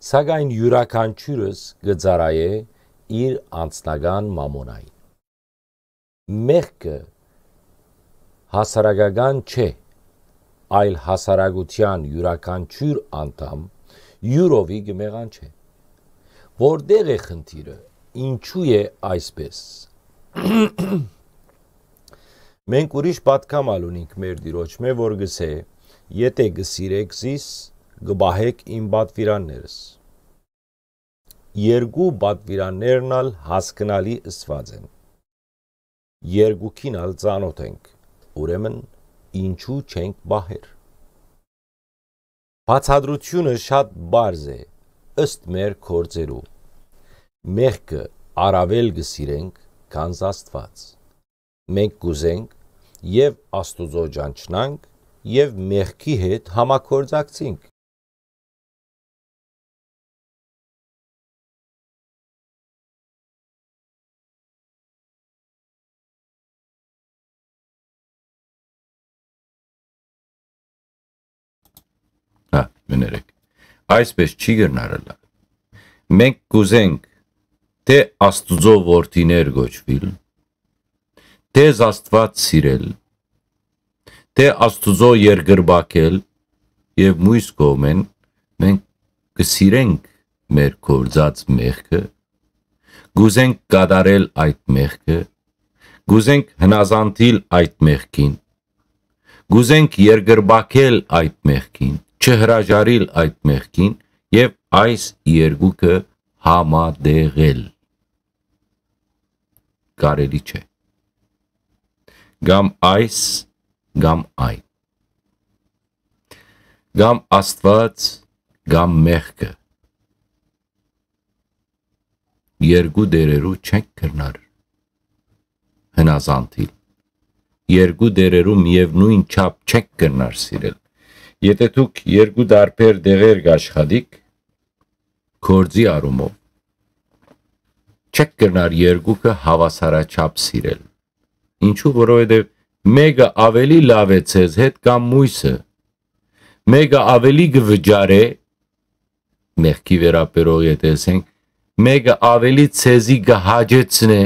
սակայն իւրաքանչիւրս կը ծառայէ իր անձնական մամոնային։ Մեղքը հասարակական չէ, այլ հասարակութեան իւրաքանչիւր անդամ իւրովի կը մեղանչէ։ Որտեղ է խնդիրը, ինչու է այսպես։ Մենք ուրիշ պատգամ ալ ունինք մեր Տիրոջմէ, որ կ'ըսէ. «Եթէ կը սիրէք զիս, կը պահէք իմ պատուիրաններս»։ Երկու պատուիրաններն ալ հասկնալի ըսուած են։ Երկուքին ալ ծանօթ ենք, ուրեմն ինչու չենք պահեր։ Բացատրութիւնը շատ պարզ է, ըստ մեր գործերու։ Մեղքը առաւել կը սիրենք, քան Աստուած։ Մենք կ'ուզենք եւ Աստուծոյ ճանչնանք, եւ մեղքի հետ համագործակցենք։ Հա, մներեք։ Այսպես չի կրնար ըլլալ։ Մենք կ'ուզենք թէ Աստուծոյ որդիներ կոչուիլ, թէ Աստուած սիրել, թէ Աստուծոյ երկրպագել, եւ միւս կողմէն մենք կը սիրենք մեր գործած մեղքը, կ'ուզենք կատարել այդ մեղքը, կ'ուզենք հնազանդիլ այդ մեղքին, կ'ուզենք երկրպագել այդ մեղքին, չհրաժարիլ այդ մեղքին եւ այս երկուքը համատեղել։ Կարելի չէ։ Կամ այս, կամ այն։ Կամ Աստուած, կամ մեղքը։ Երկու տերերու չենք կրնար հնազանդիլ։ Երկու տերերու միեւնոյն չափ չենք կրնար սիրել։ Եթէ դուք երկու տարբեր տեղեր կաշխատիք, գործի առումով, չեք կրնար երկուքը հաւասարաչափ սիրել։ Ինչու, որովհետեւ մէկը աւելի լաւ է ձեզ հետ կամ մոյսը, մէկը աւելի կը վճարէ, մեղքի վերաբերող եթէ ասենք, մէկը աւելի ձեզի կը հաճեցնէ,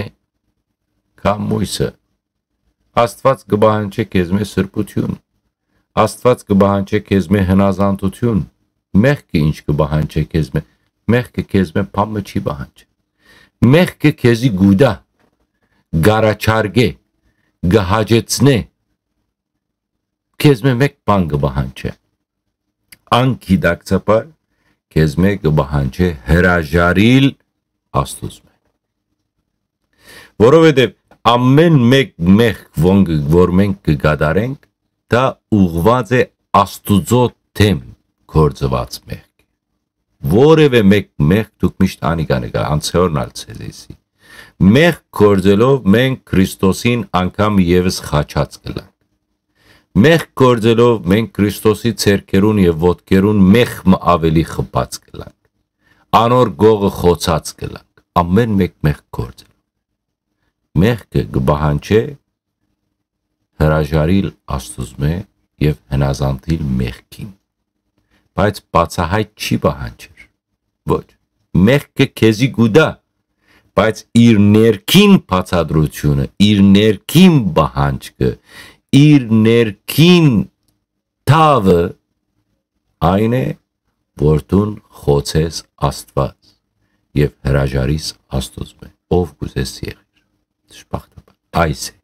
քան մոյսը։ Աստուած կը պահանջէ քեզմէ սրբութիւն։ Աստուած կը պահանջէ քեզմէ հնազանդութիւն։ Մեղքը ինչ կը պահանջէ քեզմէ։ Մեղքը քեզմէ բան մը չի պահանջը։ Մեղքը քեզի կու տայ, կ'առաջարկէ, կը հաճեցնէ, քեզմէ մէկ բան կը պահանջէ։ Անգիտակցաբար քեզմէ կը պահանջէ հրաժարիլ Աստուծմէ։ Որովհետեւ ամէն մէկ մեղք, որ, որ մենք կը կատարենք, դա ուղղուած է Աստուծոյ դէմ գործուած մեղք։ Որեւէ մէկ մեղք դուք միշտ անիկա նկա, անցեորն ալ ձեզի։ Մեղք գործելով մենք Քրիստոսին անգամ եւս խաչած կ'ըլլանք։ Մեղք գործելով մենք Քրիստոսի ձեռքերուն եւ ոտքերուն մեղք մը աւելի խփած կ'ըլլանք։ Անոր գողը խոցած կ'ըլլանք, ամէն մէկ մեղք գործելով։ Մեղքը կը պահանջէ հրաժարիլ Աստուծմէ եւ հնազանդիլ մեղքին։ Բայց բացահայտ չի պահանջեր։ Ոչ։ Մեղքը քեզի կու տայ, բայց իր ներքին բացատրությունը, իր ներքին պահանջքը, իր ներքին թաւը այն է, որ դուն խոցես Աստուած եւ հրաժարիս Աստուծմէ, ով կ'ուզես եղիր։ Դժբախտաբար, այս է,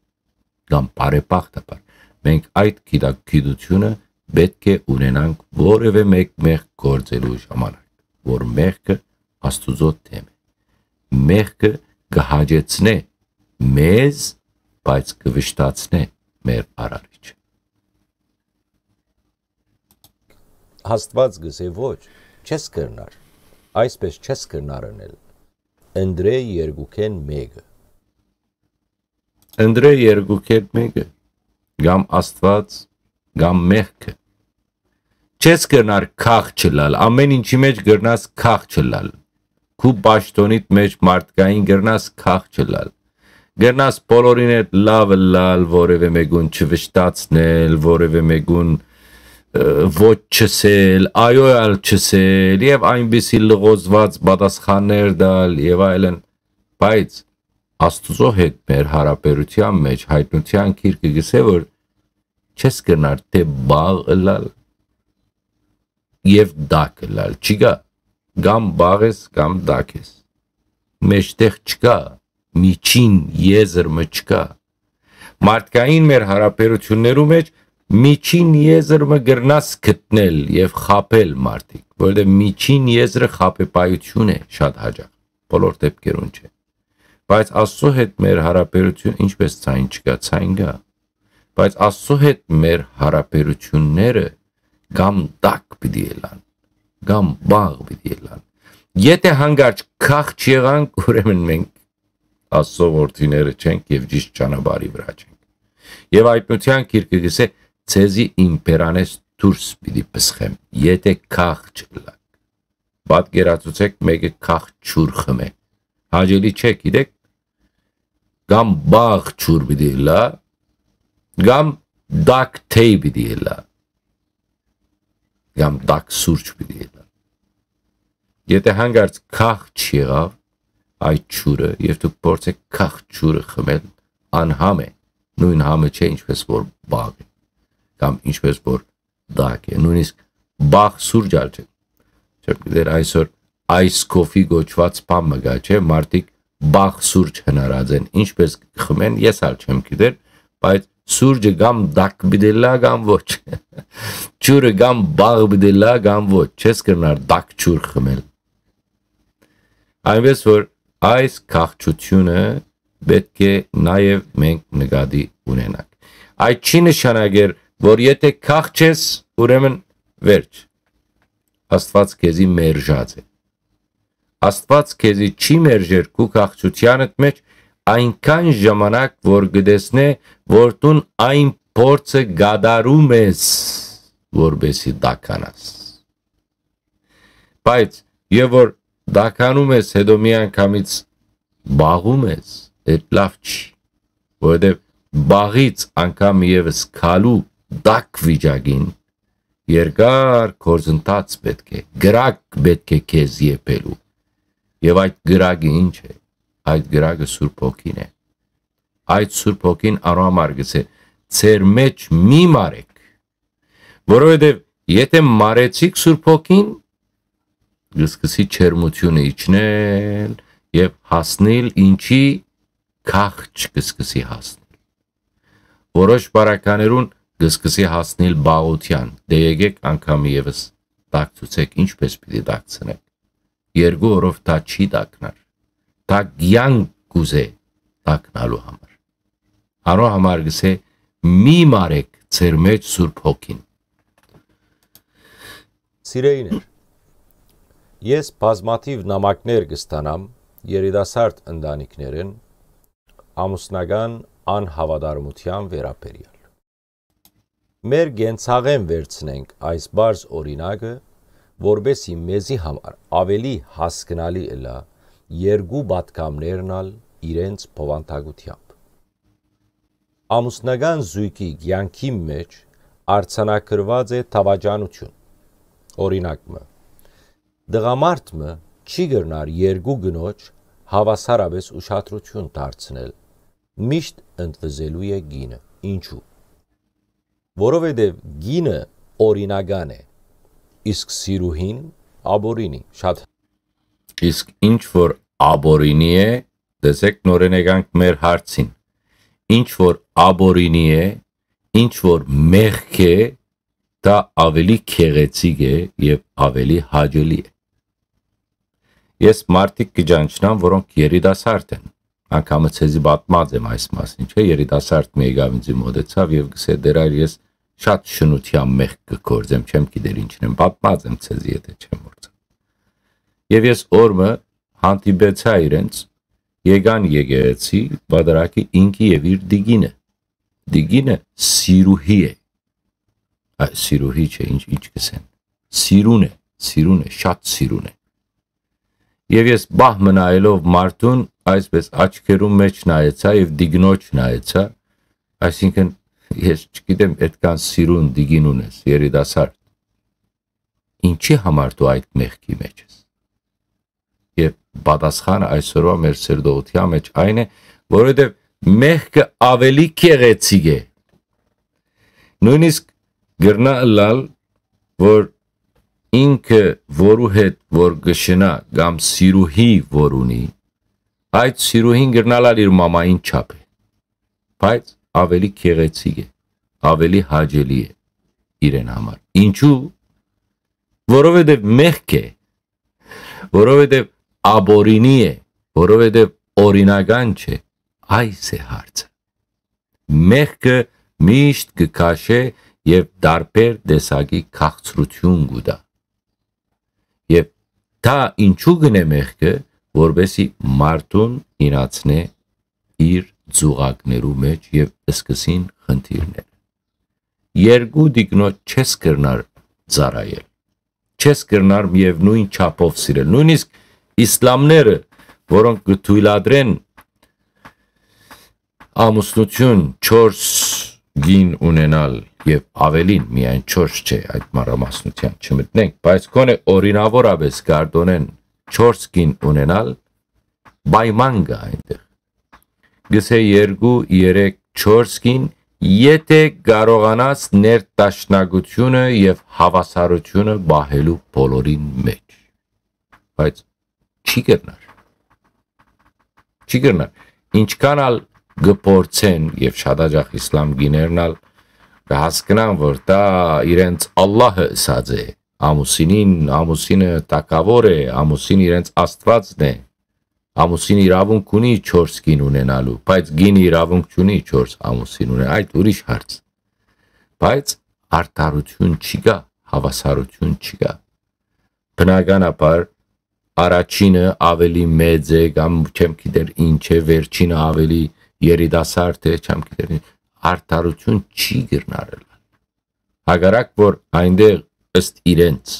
կամ բարեբախտաբար, մենք այդ գիտակ-, գիտությունը պէտք է ունենանք որեւէ մէկ մեղք գործելու ժամանակ, որ մեղքը Աստուծոյ դէմ է։ Մեղքը կը հաճեցնէ մեզ, բայց կը վշտացնէ մեր Արարիչը։ Աստուած կ'ըսէ. «Ոչ, չես կրնար, այսպես չես կրնար ընել, ընտրէ երկուքէն մէկը»։ Ընտրէ երկուքէն մէկը, կամ Աստուած, կամ մեղքը։ Չես կրնար քախ չըլլալ, ամէն ինչի մէջ կրնաս քախ չըլլալ։ Քու պաշտոնիդ մէջ մարդկային կրնաս քախ չըլլալ։ Կրնաս բոլորին հետ լաւ ըլլալ, որեւէ մէկուն չվշտացնել, որեւէ մէկուն, ը, ոչ չըսել, այո ալ չըսել, եւ այնպիսի լղոզված պատասխաններ տալ, եւ այլն։ Բայց Աստուծոյ հետ մեր յարաբերութեան մէջ յայտնութեան գիրքը կ'ըսէ, որ չես կրնար թէ բաղ ըլլալ եւ տաք ըլլալ, չի գա, կամ բաղ ես, կամ տաք ես, մեջտեղ չկայ, միջին եզր մը չկայ։ Մարդկային մեր յարաբերութիւններու մէջ միջին եզր մը կրնաս գտնել եւ խաբել մարդիկ, որովհետեւ միջին եզրը խաբեբայութիւն է շատ յաճախ, բոլոր դեպքերուն չէ։ Բայց Աստծո հետ մեր յարաբերութիւն ինչպես ցայն չկայ, ցայն կայ։ Բայց Աստծո հետ մեր յարաբերութիւնները կամ տաք պիտի ըլլան, կամ բաղ պիտի ըլլան։ Եթէ հանկարծ քախ չեղանք, ուրեմն մենք Աստծո որդիները չենք եւ ճիշդ ճանապարհի վրայ չենք։ Եւ Հայտնութեան գիրքը կ'ըսէ. «Ձեզի իմ բերանէս դուրս պիտի պսխեմ, եթէ քախ չըլլաք»։ Պատկերացուցէք, մէկը քախ ջուր խմէ։ Հաճելի չէ, գիտէք, կամ բաղ ջուր պիտի ըլլայ, կամ տաք թեյ պիտի ըլլայ, կամ տաք սուրճ պիտի ըլլայ։ Եթէ հանկարծ քախ չեղաւ այդ ջուրը, եւ դուք փորձէք քախ ջուրը խմել, անհամ է, նոյն համը չէ, ինչպես որ բաղ է, կամ ինչպես որ տաք է, նոյնիսկ բաղ սուրճ ալ չէ։ Չէ՞, դեռ այսօր ice coffee կոչուած բան մը կայ, չէ՞, մարդիկ բաղ սուրճ հնարած են, ինչպես կը խմեն, ես ալ չեմ գիտեր, բայց սուրճը կամ տաք պիտի ըլլայ, կամ ոչ։ Ջուրը կամ բաղ պիտի ըլլայ, կամ ոչ, չես կրնար տաք ջուր խմել։ Այնպես որ այս քախչությունը պէտք է նաեւ մենք նկատի ունենանք։ Այդ չի նշանակեր, որ եթէ քախ չես, ուրեմն վերջ։ Աստուած քեզի մերժած է։ Աստուած քեզի չի մերժեր քու քախչութեանդ մէջ այնքան ժամանակ, որ կը տեսնէ, որ դուն այն փորձը կատարում ես, որպեսզի տաքանաս։ Բայց եւ որ տաքանում ես, հետո միանգամից բաղում ես, այդ լաւ չի, որովհետեւ բաղից անգամ եւս քալու տաք վիճակին երկար գործընթաց պէտք է, կրակ պէտք է քեզ եփելու։ Եւ այդ կրակը ի՞նչ է։ Այդ կրակը Սուրբ Հոգին է։ Այդ Սուրբ Հոգին անոր համար գսե. «Ձեր մէջ մի մարեք, որովհետեւ եթէ մարեցիք Սուրբ Հոգին, կը սկսի ջերմութիւնը իջնել եւ հասնիլ ինչի, քախ չկը սկսի հասնիլ։ Որոշ բարականերուն կը սկսի հասնիլ բաղութեան, դե եկեք անգամ եւս տակցուցեք, ինչպես պիտի տակցնեք։ Երկու օրով դա չի տակնար, դա կեանք կուզէ տակնալու համար։ Անոր համար գսե. "Մի մարեք ձեր մէջ Սուրբ Հոգին"։ Սիրելիներ, ես բազմաթիւ նամակներ կստանամ երիտասարդ ընտանիքներէն ամուսնական անհաւատարմութեան վերաբերեալ։ Մեր կենցաղէն վերցնենք այս պարզ օրինակը, որպեսզի մեզի համար աւելի հասկնալի ըլլայ երկու պատգամներն ալ իրենց բովանդակութեամբ։ Ամուսնական զոյգի կեանքի մէջ արձանագրուած է դաւաճանութիւն։ Օրինակ մը, տղամարդ մը չի կրնար երկու կնոջ հաւասարապէս ուշադրութիւն դարձնել, միշտ ընդվզելու է կինը։ Ինչու՞։ Որովհետեւ կինը օրինական է, իսկ սիրուհին ապօրինի։ Շատ։ Իսկ ինչ որ ապօրինի է, տեսեք, նորէն եկանք մեր հարցին, ինչ որ ապօրինի է, ինչ որ մեղք է, դա աւելի գեղեցիկ է եւ աւելի հաճելի է։ Ես մարդիկ կը ճանչնամ, որոնք երիտասարդ են, անգամը ձեզի պատմած եմ այս մասին, չէ՞, երիտասարդ մը եկաւ ինձի մոտեցաւ եւ գսե. "Տեր այր, ես շատ շնութեան մեղք կը գործեմ, չեմ գիտեր ինչն եմ, պատմած եմ ձեզի, եթէ չեմ մոռցա"։ Եւ ես օր մը հանդիպեցայ իրենց, եկան եկեղեցի, պատարագի ինքը եւ իր տիկինը։ Տիկինը սիրուհի է։ Այ, սիրուհի չէ, ինչ, ինչ կսեն։ Սիրուն է, սիրուն է, շատ սիրուն է։ Եւ ես պահ մը նայելով մարդուն, այսպես աչքերուն մէջ նայեցայ եւ տիկնոջ նայեցայ, այսինքն, ես չգիտեմ, այդքան սիրուն տիկին ունես, երիտասարդ, ինչի համար դու այդ մեղքի մեջ ես։ Եւ պատասխանը այսօրվա մեր սերտողութեան մեջ այն է, որովհետեւ մեղքը աւելի գեղեցիկ է։ Նոյնիսկ կրնայ ըլլալ, որ ինքը, որու հետ որ կը շնայ, կամ սիրուհի որ ունի, այդ սիրուհին կրնայ ըլլալ իր մամային չափ է, բայց աւելի գեղեցիկ է, աւելի հաճելի է իրեն համար։ Ինչու՞։ Որովհետեւ մեղք է, որովհետեւ ապօրինի է, որովհետեւ օրինական չէ, այս է հարցը։ Մեղքը միշտ կը քաշէ եւ տարբեր տեսակի քաղցրութիւն կու տայ։ Եւ Դա ինչու կ'ընէ մեղքը, որպեսզի մարդուն իյնացնէ իր ծուղակներու մէջ եւ սկսին խնդիրներ։ Երկու տիկնոջ չես կրնար ծառայել, չես կրնար միեւնոյն չափով սիրել։ Նոյնիսկ իսլամները, որոնք կը թոյլատրեն ամուսնութիւն չորս կին ունենալ եւ ավելին, միայն չորս չէ, այդ մանրամասնութեան չմտնենք, բայց գոնէ օրինաւորապէս կ'արտօնեն չորս կին ունենալ, պայման կայ այնտեղ։ Գսէ երկու, երեք, չորս կին, եթէ կարողանաս ներդաշնակութիւնը եւ հաւասարութիւնը պահելու բոլորին մէջ։ Բայց չի կրնար։ Չի կրնար։ Ինչքան ալ կը փորձեն, եւ շատ աջախ իսլամ կիներն ալ կը հասկնան, որ դա իրենց Ալլահը ըսած է, ամուսինին, ամուսինը տակաւոր է, ամուսին իրենց Աստուածն է, ամուսին իրաւունք ունի չորս կին ունենալու, բայց կինը իրաւունք չունի չորս ամուսին ունենալ, այդ ուրիշ հարց։ Բայց արդարութիւն չի գա, հաւասարութիւն չի գա։ Բնականաբար, առաջինը ավելի մեծ է կամ չեմ գիտեր ինչ է, վերջինը ավելի երիտասարդ է, չեմ գիտեր ինչ, արդարութիւն չի կրնար ըլլալ։ Հակառակ որ այնտեղ ըստ իրենց,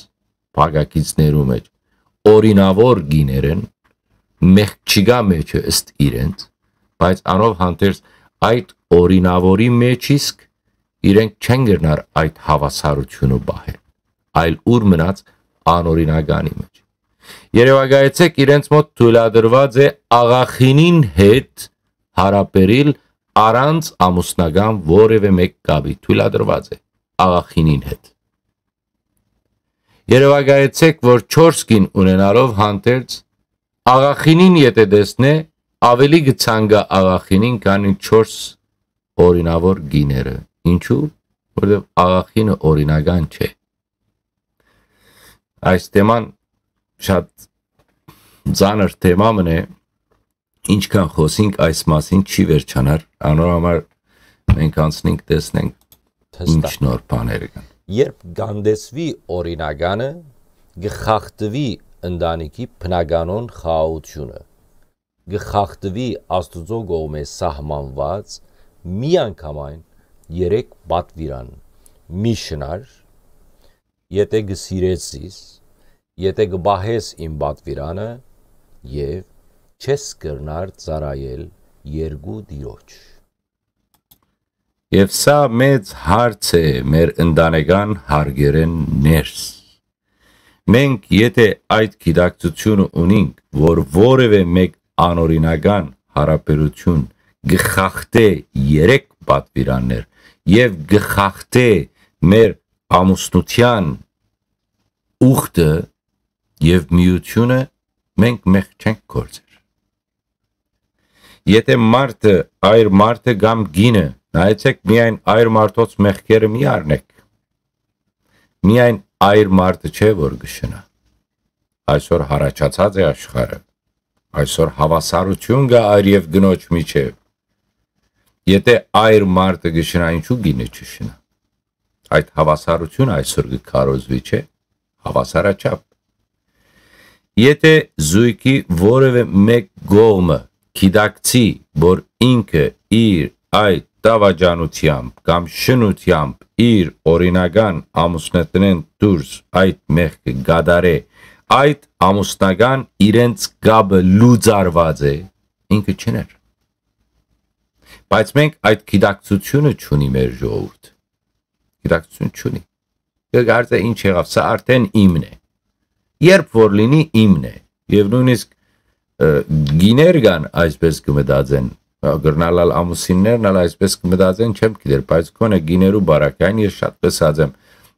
փակագիծներու մէջ, օրինաւոր կիներ են, մեղք չի գա մեջը ըստ իրենց, բայց անով հանդերձ այդ օրինաւորի մէջ իսկ իրենք չեն կրնար այդ հաւասարութիւնը պահել, այլ ուր մնաց անօրինականի մէջ։ Երեւակայեցեք, իրենց մոտ թոյլատրուած է աղախինին հետ յարաբերիլ առանց ամուսնական որեւէ մէկ կապի, թոյլատրուած է աղախինին հետ։ Երեւակայեցեք, որ չորս կին ունենալով հանդերձ աղախինին եթէ տեսնէ, ավելի կը ցանկայ աղախինին, քան չորս օրինաւոր կիները։ Ինչու՞։ Որովհետեւ աղախինը օրինական չէ։ Այս թեման շատ ծանր թեմա մըն է, ինչքան խօսինք այս մասին չի վերջանար, անոր համար մենք անցնենք, տեսնենք ինչ Հստակ։ նոր բաներ կան։ Երբ կանդեսվի օրինականը, կը խախտուի ընտանիքի բնականոն խաղաղութիւնը, կը խախտուի Աստուծոյ կողմէ սահմանուած միանգամայն երեք պատուիրան՝ մի շնար, եթէ կը սիրես զիս, եթէ կը պահես իմ պատուիրանը, եւ չես կրնար ծառայել երկու տիրոջ։ Եւ սա մեծ հարց է մեր ընտանեկան հարգերէն ներս։ Մենք եթէ այդ գիտակցութիւնը ունինք, որ որեւէ մէկ անօրինական յարաբերութիւն կը խախտէ երեք պատուիրաններ եւ կը խախտէ մեր ամուսնութեան ուխտը եւ միութիւնը, մենք մեղք չենք գործեր։ Եթէ մարդը, այր մարդը կամ կինը, նայեցեք, միայն այր մարդոց մեղքերը մի առնեք։ Միայն այր մարդը չէ, որ կը շնայ։ Այսօր յառաջացած է աշխարհը։ Այսօր հաւասարութիւն կայ այր եւ կնոջ միջեւ։ Եթէ այր մարդը կը շնայ, ինչու կինը չշնայ։ Այդ հաւասարութիւնը այսօր կը քարոզուի, չէ՞, հաւասարաչափ։ Եթէ զոյգի որեւէ մէկ կողմը գիտակցի, որ ինքը իր այդ դավաճանութեամբ կամ շնութեամբ իր օրինական ամուսնութենէն դուրս այդ մեղքը կատարէ, այդ ամուսնական իրենց կապը լուծարուած է, ինքը չներ։ Բայց մենք այդ գիտակցութիւնը չունի մեր ժողովուրդ։ Գիտակցութիւն չունի։ Կը կարծէ ինչ եղաւ, սա արդեն իմն է։ Երբ որ լինի, իմն է։ Եւ նոյնիսկ, ը, գիներ կան այսպես կը մտածեն, ը, կրնալ ալ ամուսիններն ալ այսպես կը մտածեն, չեմ գիտեր, բայց գոնե գիներու բարակային ես շատ տեսած եմ։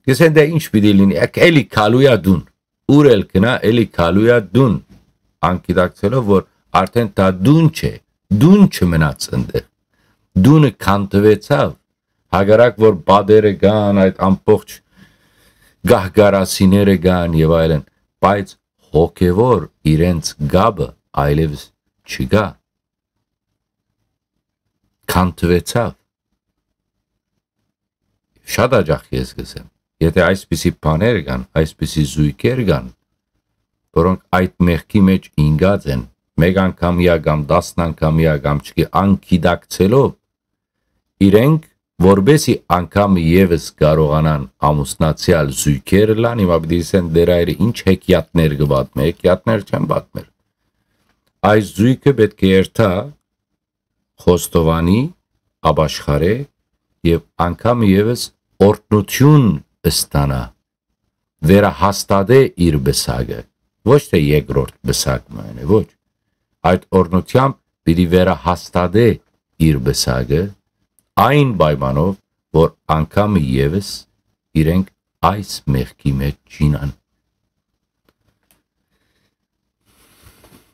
Կսեն դե ինչ պիտի լինի, եք էլի քալու ա դուն, ուր էլ գնայ, էլի քալու ա դուն, անգիտակցելով որ արդեն դա դուն չէ, դուն չմնաց այնտեղ, դունը քանտվեցաւ, հակառակ որ պատերը կան, այդ ամբողջ գահկարասիները կան եւ այլն, բայց հոգեվոր իրենց կապը այլևս չկայ, քանտվեցաւ։ Շատ աջախ ես կ'ըսեմ, եթէ այսպիսի բաներ կան, այսպիսի զոյգեր կան, որոնք այդ մեղքի մէջ ինկած են, մէկ անգամեայ կամ տասն անգամեայ կամ չկի անգիտակցելով, իրենք, որպեսի անգամ եւս կարողանան ամուսնացեալ զոյգեր ըլլան, հիմա պիտի ասեն, «Տեր Հայրը, ինչ հեքիաթներ կը պատմէ»։ Հեքիաթներ չեմ պատմեր։ Այս զոյգը պէտք է երթայ խոստովանի, ապաշխարէ եւ անգամ եւս օրհնութիւն ստանայ, վերահաստատէ իր պսակը, ոչ թէ երկրորդ պսակ մը ընէ, ոչ։ Այդ օրհնութեամբ պիտի վերահաստատէ իր պսակը, այն պայմանով, որ անգամ եւս իրենք այս մեղքի մէջ չինան։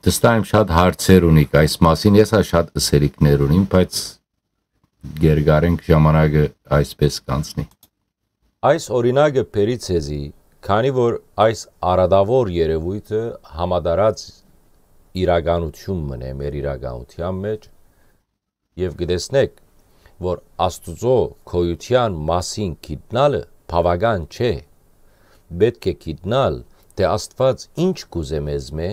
Դստայեմ շատ հարցեր ունիք այս մասին, ես ա շատ ըսելիքներ ունիմ, բայց գերգարենք, ժամանակը այսպես կանցնի։ Այս օրինակը բերի ձեզի, քանի որ այս արատաւոր երեւոյթը համատարած իրականութիւն մնէ մեր իրականութեան մէջ, եւ կը տեսնէք, որ Աստուծոյ գոյութեան մասին գիտնալը բաւական չէ։ Պէտք է գիտնալ, թէ Աստուած ինչ կ'ուզէ մեզմէ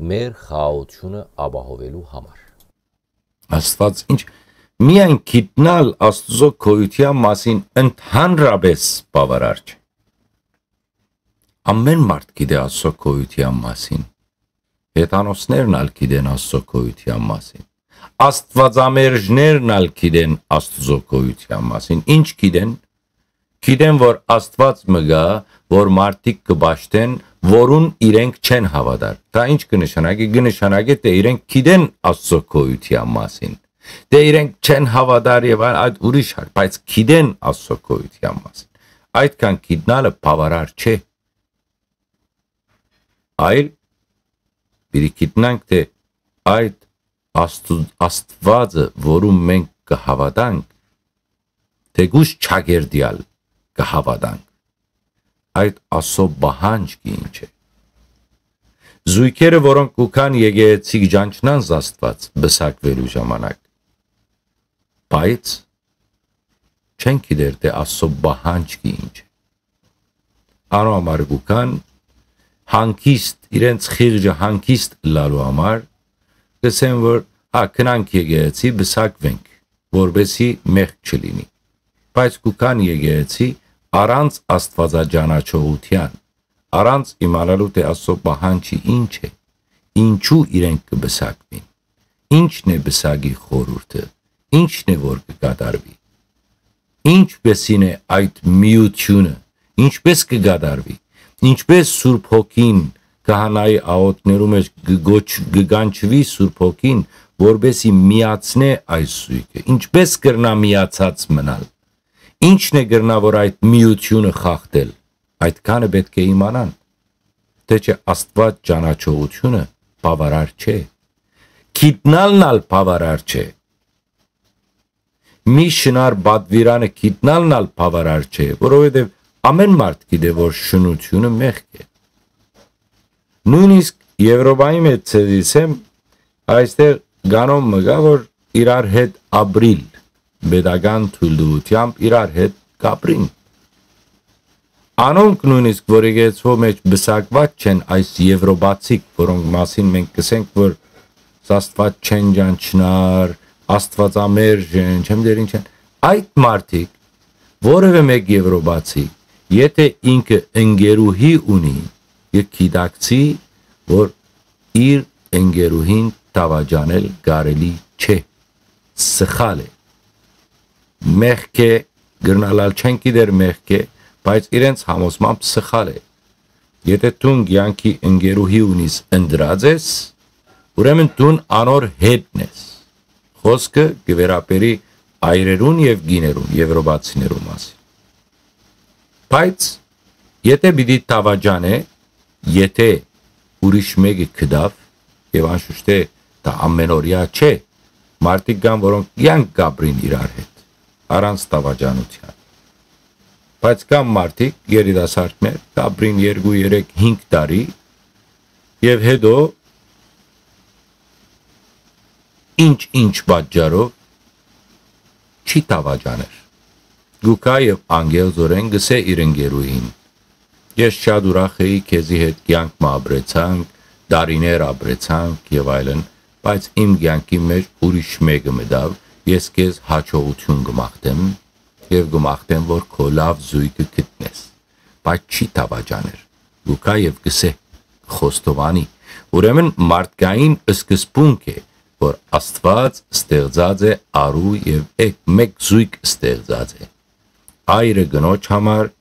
մեր խաղաղութիւնը ապահովելու համար։ Աստուած ինչ, միայն գիտնալ Աստուծոյ գոյութեան մասին ընդհանրապես բաւարար չէ։ Ամէն մարդ գիտէ Աստուծոյ գոյութեան մասին։ Հեթանոսներն ալ գիտեն Աստուծոյ գոյութեան մասին։ Աստուածամերժներն ալ գիտեն Աստուծոյ գոյութեան մասին։ Ինչ գիտեն, գիտեն, որ Աստուած մը կայ, որ մարդիկ կը պաշտեն, որուն իրենք չեն հաւատար։ Դա ինչ կը նշանակի։ Կը նշանակի, թէ իրենք գիտեն Աստուծոյ գոյութեան մասին, թէ իրենք չեն հաւատար եւ այլ, այդ ուրիշ հարց, բայց գիտեն Աստուծոյ գոյութեան մասին։ Այդքան գիտնալը բաւարար չէ, այլ պիտի գիտնանք, թէ այդ Աստու-, Աստուածը, որուն մենք կը հաւատանք, թէկուզ չակերտեալ կը հաւատանք, այդ Աստուծոյ պահանջքը ինչ է։ Զոյգերը, որոնք կու գան եկեղեցի, կը ճանչնան Աստուած պսակուելու ժամանակ, բայց չեն գիտեր, թէ Աստուծոյ պահանջքը ինչ է։ Անոր համար կու գան հանգիստ, իրենց խիղճը հանգիստ ըլլալու համար, կ'ըսեն, որ, հա, գնանք եկեղեցի, պսակուենք, որպեսզի մեղք չլինի։ Բայց կու գան եկեղեցի առանց Աստուածաճանաչողութեան, առանց իմանալու, թէ Աստուծոյ պահանջը ինչ է, ինչու իրենք կը պսակուին, ինչն է պսակի խորհուրդը, ինչն է որ կը կատարուի, ինչպեսին է այդ միութիւնը, ինչպես կը կատարուի, ինչպես Սուրբ Հոգին քահանայի աղօթքներու մէջ կը գոչ-, կը կանչուի Սուրբ Հոգին, որպեսզի միացնէ այս զոյգը, ինչպես կրնայ միացած մնալ, ինչն է կրնայ որ այդ միութիւնը խախտել, այդքանը պէտք է իմանան, թէ չէ Աստուածաճանաչողութիւնը բաւարար չէ, գիտնալն ալ բաւարար չէ, մի շնարհ պատուիրանը գիտնալն ալ բաւարար չէ, որովհետեւ ամէն մարդ գիտէ, որ շնութիւնը մեղք է։ Նոյնիսկ Եւրոպայի մէջ, ձեզի ասեմ, այստեղ կանոն մը կայ, որ իրար հետ ապրիլ, պետական թույլտուութեամբ իրար հետ կ'ապրին։ Անոնք նոյնիսկ, որ եկեղեցւոյ մէջ պսակուած չեն, այս եվրոպացիք, որոնք մասին մենք կ'ըսենք, որ Աստուած չեն ճանչնար, Աստուածամերժ են, չեմ դեր ինչ են, այդ մարդիկ, որևէ մէկ եվրոպացի, եթէ ինքը ընկերուհի ունի, կը գիտակցի, որ իր ընկերուհին դաւաճանել կարելի չէ, սխալ է, մեղք է, կրնալ ալ չեն գիտեր մեղք է, բայց իրենց համոզմամբ սխալ է։ Եթէ դուն կեանքի ընկերուհի ունիս, ընտրած ես, ուրեմն դուն անոր հետն ես։ Խոսքը կը վերաբերի այրերուն եւ կիներուն, եվրոպացիներուն մասին։ Բայց եթէ պիտի դաւաճանէ, եթէ ուրիշ մէկը գտաւ, եւ անշուշտ է, դա ամենօրեայ չէ, մարդիկ կան, որոնք կեանք կ'ապրին իրար հետ, առանց դաւաճանութեան։ Բայց կան մարդիկ, երիտասարդներ, կ'ապրին երկու, երեք, հինգ տարի, եւ հետո ինչ-ինչ պատճառով չի դաւաճաներ։ Գուկա եւ անգերձորեն գսե իր ընկերուհին. «Ես շատ ուրախ էի, քեզի հետ կեանք մը ապրեցանք, տարիներ ապրեցանք եւ այլն, բայց իմ կեանքին մէջ ուրիշ մէկը մտաւ, ես քեզ յաջողութիւն կը մաղթեմ եւ կը մաղթեմ, որ քո լաւ զոյգը գտնես, բայց չի դաւաճաներ, կու գայ եւ կ'ըսէ, խոստովանի։ Ուրեմն մարդկային սկզբունք է, որ Աստուած ստեղծած է արու եւ էկ մէկ զոյգ ստեղծած է։ Այրը կնոջ համար,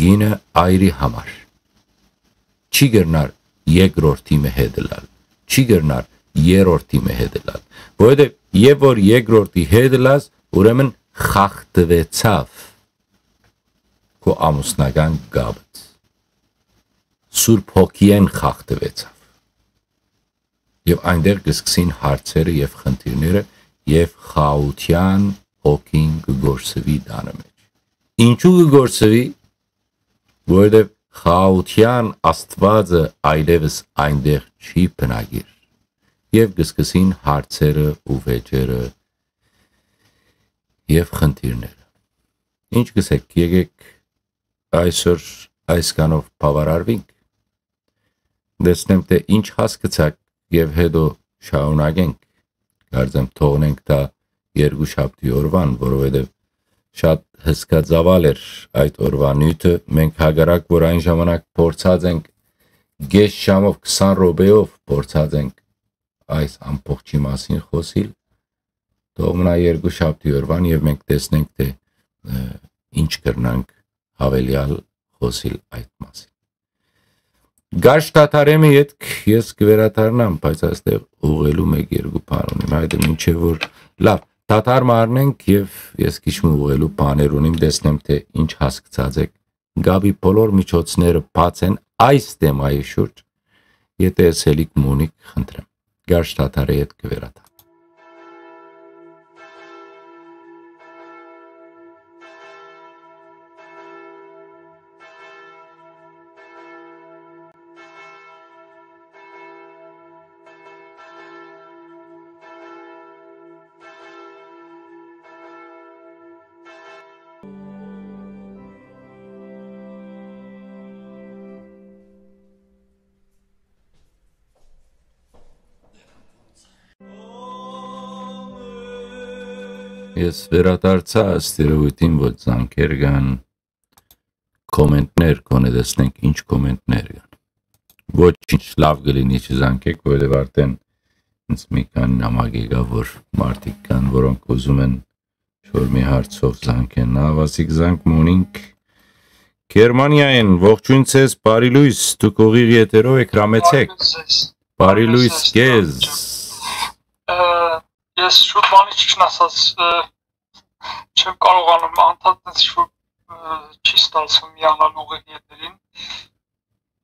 կինը այրի համար։ Չի կրնար երկրորդի մը հետ ըլլալ, չի կրնար երրորդի մը հետ ըլլալ, որովհետեւ եւ որ երկրորդի հետ ըլլաս, ուրեմն խախտուեցաւ քո ամուսնական կապը, Սուրբ Հոգիէն խախտուեցաւ։ Եւ այնտեղ կը սկսին հարցերը եւ խնդիրները, եւ խաղաղութեան հոգին կը գործուի տանը մէջ։ Ինչու կը գործուի, որովհետեւ խաղաղութեան Աստուածը այլեւս այնտեղ չի բնակիր, եւ կը սկսին հարցերը ու վեճերը եւ խնդիրները։ Ինչ կ'ըսեք, եկեք այսօր այսքանով բաւարարվինք, տեսնեմ, թէ ինչ հասկցաք, եւ հետո շարունակենք, կարծեմ, թողնենք դա երկու շաբթի օրուան, որովհետեւ շատ հսկա ծաւալ էր այդ օրուան նիւթը։ Մենք հակառակ որ այն ժամանակ փորձած ենք կես ժամով, քսան րոպեով փորձած ենք այս ամբողջի մասին խօսիլ, թող մնայ երկու շաբթի օրուան եւ մենք տեսնենք, թէ, ը, ինչ կրնանք հավելեալ խօսիլ այդ մասին։ Գարշ Թաթարեմի ետք ես կվերադառնամ, բայց այստեղ ուղղելու մեկ երկու բան ունիմ, այդ մինչեւ որ, լավ, Թաթար մը առնենք եւ ես քիչ մը ուղղելու բաներ ունիմ, տեսնեմ, թէ ինչ հասկցած եք, կապի բոլոր միջոցները բաց են այս թեմայի շուրջ, եթե ըսելիք մունիկ, խնդրեմ, Գարշ Թաթարի հետ կվերադառնամ։ Ես վերադարձայ ըստ երեւոյթին, որ զանգեր կան, կոմենտներ, գոնե տեսնենք ինչ կոմենտներ կան։ Ոչինչ, լաւ կը լինի չզանգեք, որովհետեւ արդեն ինձ մի քանի նամակ եկա, որ մարդիկ կան, որոնք ուզում են շոր մի հարցով զանգեն։ Լաւ, ասիկ զանգ մունինք Գերմանիայէն, ողջույն ձեզ, բարի լոյս, դուք ուղիղ եթերով էք, հրամեցեք։ Բարի լոյս ձեզ։ Բարի լոյս քեզ։ Ը, ես շուտ բանի չնասած, ը, չեմ կարողանում անդադար շուտ, ը, չի ստացվում միանալ ուղիղ եթերին։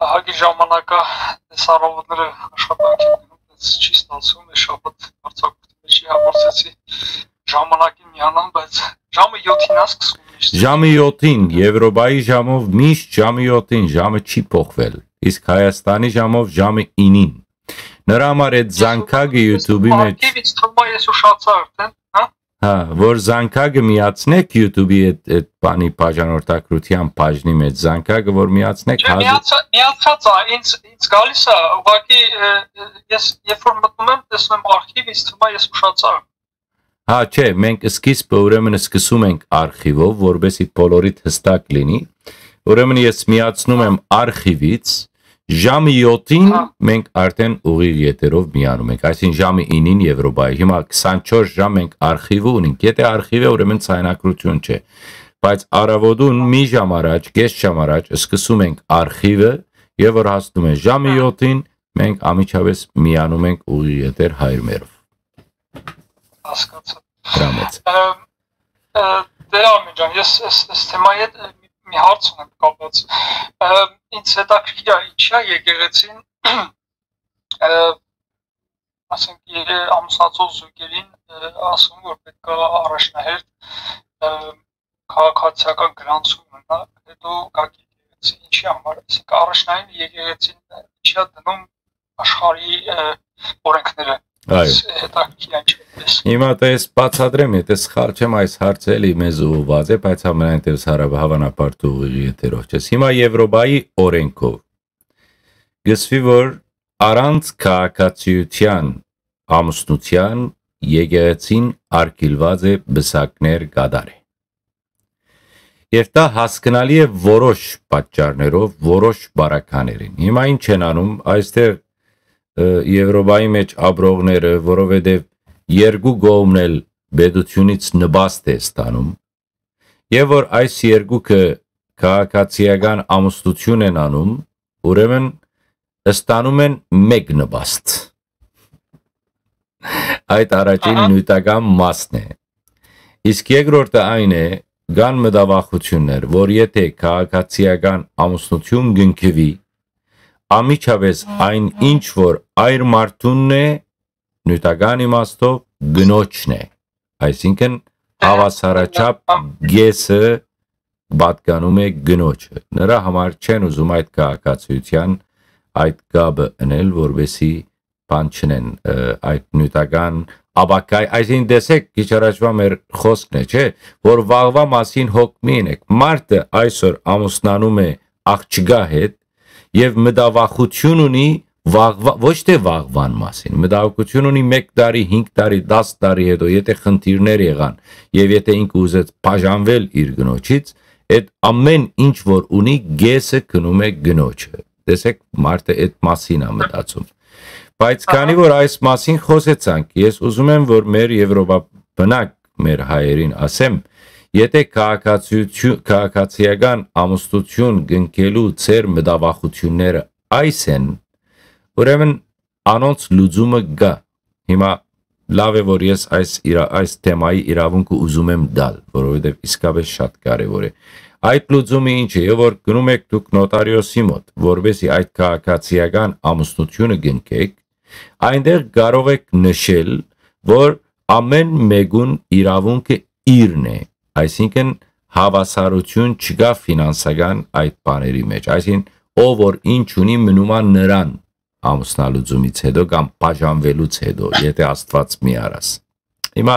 Ահագի ժամանակա այս առավոտները աշխատանքի գնում, ես չի ստացվում, այս շաբաթ արձակուրդի մեջ հաղորդեցի, ժամանակին միանամ, բայց ժամը յոթին ա սկսվում միշտ։ Ժամը յոթին, Եվրոպայի ժամով միշտ ժամը յոթին, ժամը չի փոխվել, իսկ Հայաստանի ժամով ժամը ինին։ Նրա համար այդ Ես զանգակը YouTube-ի մեջ Արխիվից թվում է, ես ուշացա արդեն, հա։ Հա, որ զանգակը միացնեք YouTube-ի այդ, այդ բանի բաժանորդագրութեան բաժնի մեջ, զանգակը որ միացնեք, Չէ, հազիվ միացա-, միացած ա, ինձ, ինձ գալիս ա, ուղղակի, ը, ը, ես երբ որ մտնում եմ, տեսնում եմ արխիվ, ինձ թվում է, ես ուշացա։ Հա, չէ, մենք սկիզբը ուրեմն սկսում ենք արխիվով, որպեսզի բոլորիդ հստակ լինի։ Ուրեմն ես միացնում եմ արխիվից, ժամը յոթին Հա։ մենք արդեն ուղիղ եթերով միանում ենք, այսինքն ժամը ինին Եվրոպայի։ Հիմա քսանչորս ժամ մենք արխիվը ունենք։ Եթե արխիվ է, ուրեմն ցայնակրություն չէ։ Բայց առավոտուն մի ժամ առաջ, կես ժամ առաջ սկսում ենք արխիվը, եւ որ հասնում է ժամը Հա։ յոթին, մենք անմիջապես միանում ենք ուղիղ եթեր հայրմերով։ Հասկացա։ Հրամեց։ Ը, ը, Տեր Արմեն ջան, ես այս, այս թեմայի հետ, ը, մի, մի հարց ունեմ կապված։ Ը, ինձ հետաքրքիր է, ինչի՞ է եկեղեցին, ը, ասենք, ե-, ամուսնացող զույգերին, ը, ասում, որ պետք է առաջնահերթ, ը, քաղաքացիական գրանցում ունենա, հետո գաք եկեղեցի, ինչի համար, այսինքն առաջնային եկեղեցին ինչի՞ է դնում աշխարհի, ը, օրենքները։ Այո։ Այս հետաքրքիր է, ինչպես։ Հիմա տես բացատրեմ, եթե սխալ չեմ, այս հարցը էլի մեզ ուղղված է, բայց համենայն դեպս հարաբ-, հավանաբար դու ուղիղ եթերով չես։ Հիմա Եվրոպայի օրենքով կսվի, որ առանց քաղաքացիության ամուսնութեան եկեղեցին արգիլուած է պսակներ կատարել։ Եւ դա հասկնալի է որոշ պատճառներով, որոշ պարագաներուն։ Հիմա ի՞նչ են անում այստեղ, ը, Եւրոպայի մէջ ապրողները, որովհետեւ երկու կողմն էլ պետութիւնից նպաստ է ստանում, եւ որ այս երկուքը քաղաքացիական ամուսնութիւն են անում, ուրեմն ստանում են մէկ նպաստ։ Այդ առաջին Ահա։ նիւթական մասն է։ Իսկ երկրորդը այն է, կան մտավախութիւններ, որ եթե քաղաքացիական ամուսնութիւն կնքուի, անմիջապէս այն ինչ որ այր մարդունն է, նիւթական իմաստով կնոջն է, այսինքն Ահա։ հավասարաչափ կեսը պատկանում է կնոջը։ Նրա համար չեն ուզում այդ քաղաքացիության այդ կապը ընել, որպեսզի բան չնեն, ը, այդ նիւթական ապագայ, այսինքն տեսեք, քիչ առաջվա մեր խոսքն է, չէ՞, որ վաղվա մասին հոգ մի ընեք։ Մարդը այսօր ամուսնանում է աղջկա հետ եւ մտավախութիւն ունի վաղվա, ոչ թե վաղվան մասին, մտավախութիւն ունի մեկ տարի, հինգ տարի, դաս տարի հետո, եթե խնդիրներ եղան եւ եթե ինքը ուզեց բաժանվել իր կնոջից, այդ ամէն ինչ որ ունի, կեսը գնում է կնոջը։ Տեսեք, մարդը այդ մասին է մտածում։ Բայց քանի Ահա։ որ այս մասին խոսեցանք, ես ուզում եմ, որ մեր եվրոպաբնակ, մեր հայերին ասեմ, եթե քաղաքացիություն, քաղաքացիական ամուսնություն կնքելու ձեր մտավախությունները այս են, ուրեմն անոնց լուծումը կա։ Հիմա լավ է, որ ես այս իրա-, այս թեմայի իրավունքը ուզում եմ տալ, որովհետեւ իսկապես շատ կարեւոր է։ Այդ լուծումը ինչ է, եւ որ գնում եք դուք նոտարիոսի մոտ, որպեսզի այդ քաղաքացիական ամուսնությունը կնքեք, այնտեղ կարող եք նշել, որ ամէն մեկուն իրավունքը իրն է, այսինքն հավասարություն չկա ֆինանսական այդ բաների մեջ, այսինքն ով որ ինչ ունի, մնում ա նրան ամուսնալուծումից հետո կամ բաժանվելուց հետո, եթե Աստված մի արաս։ Հիմա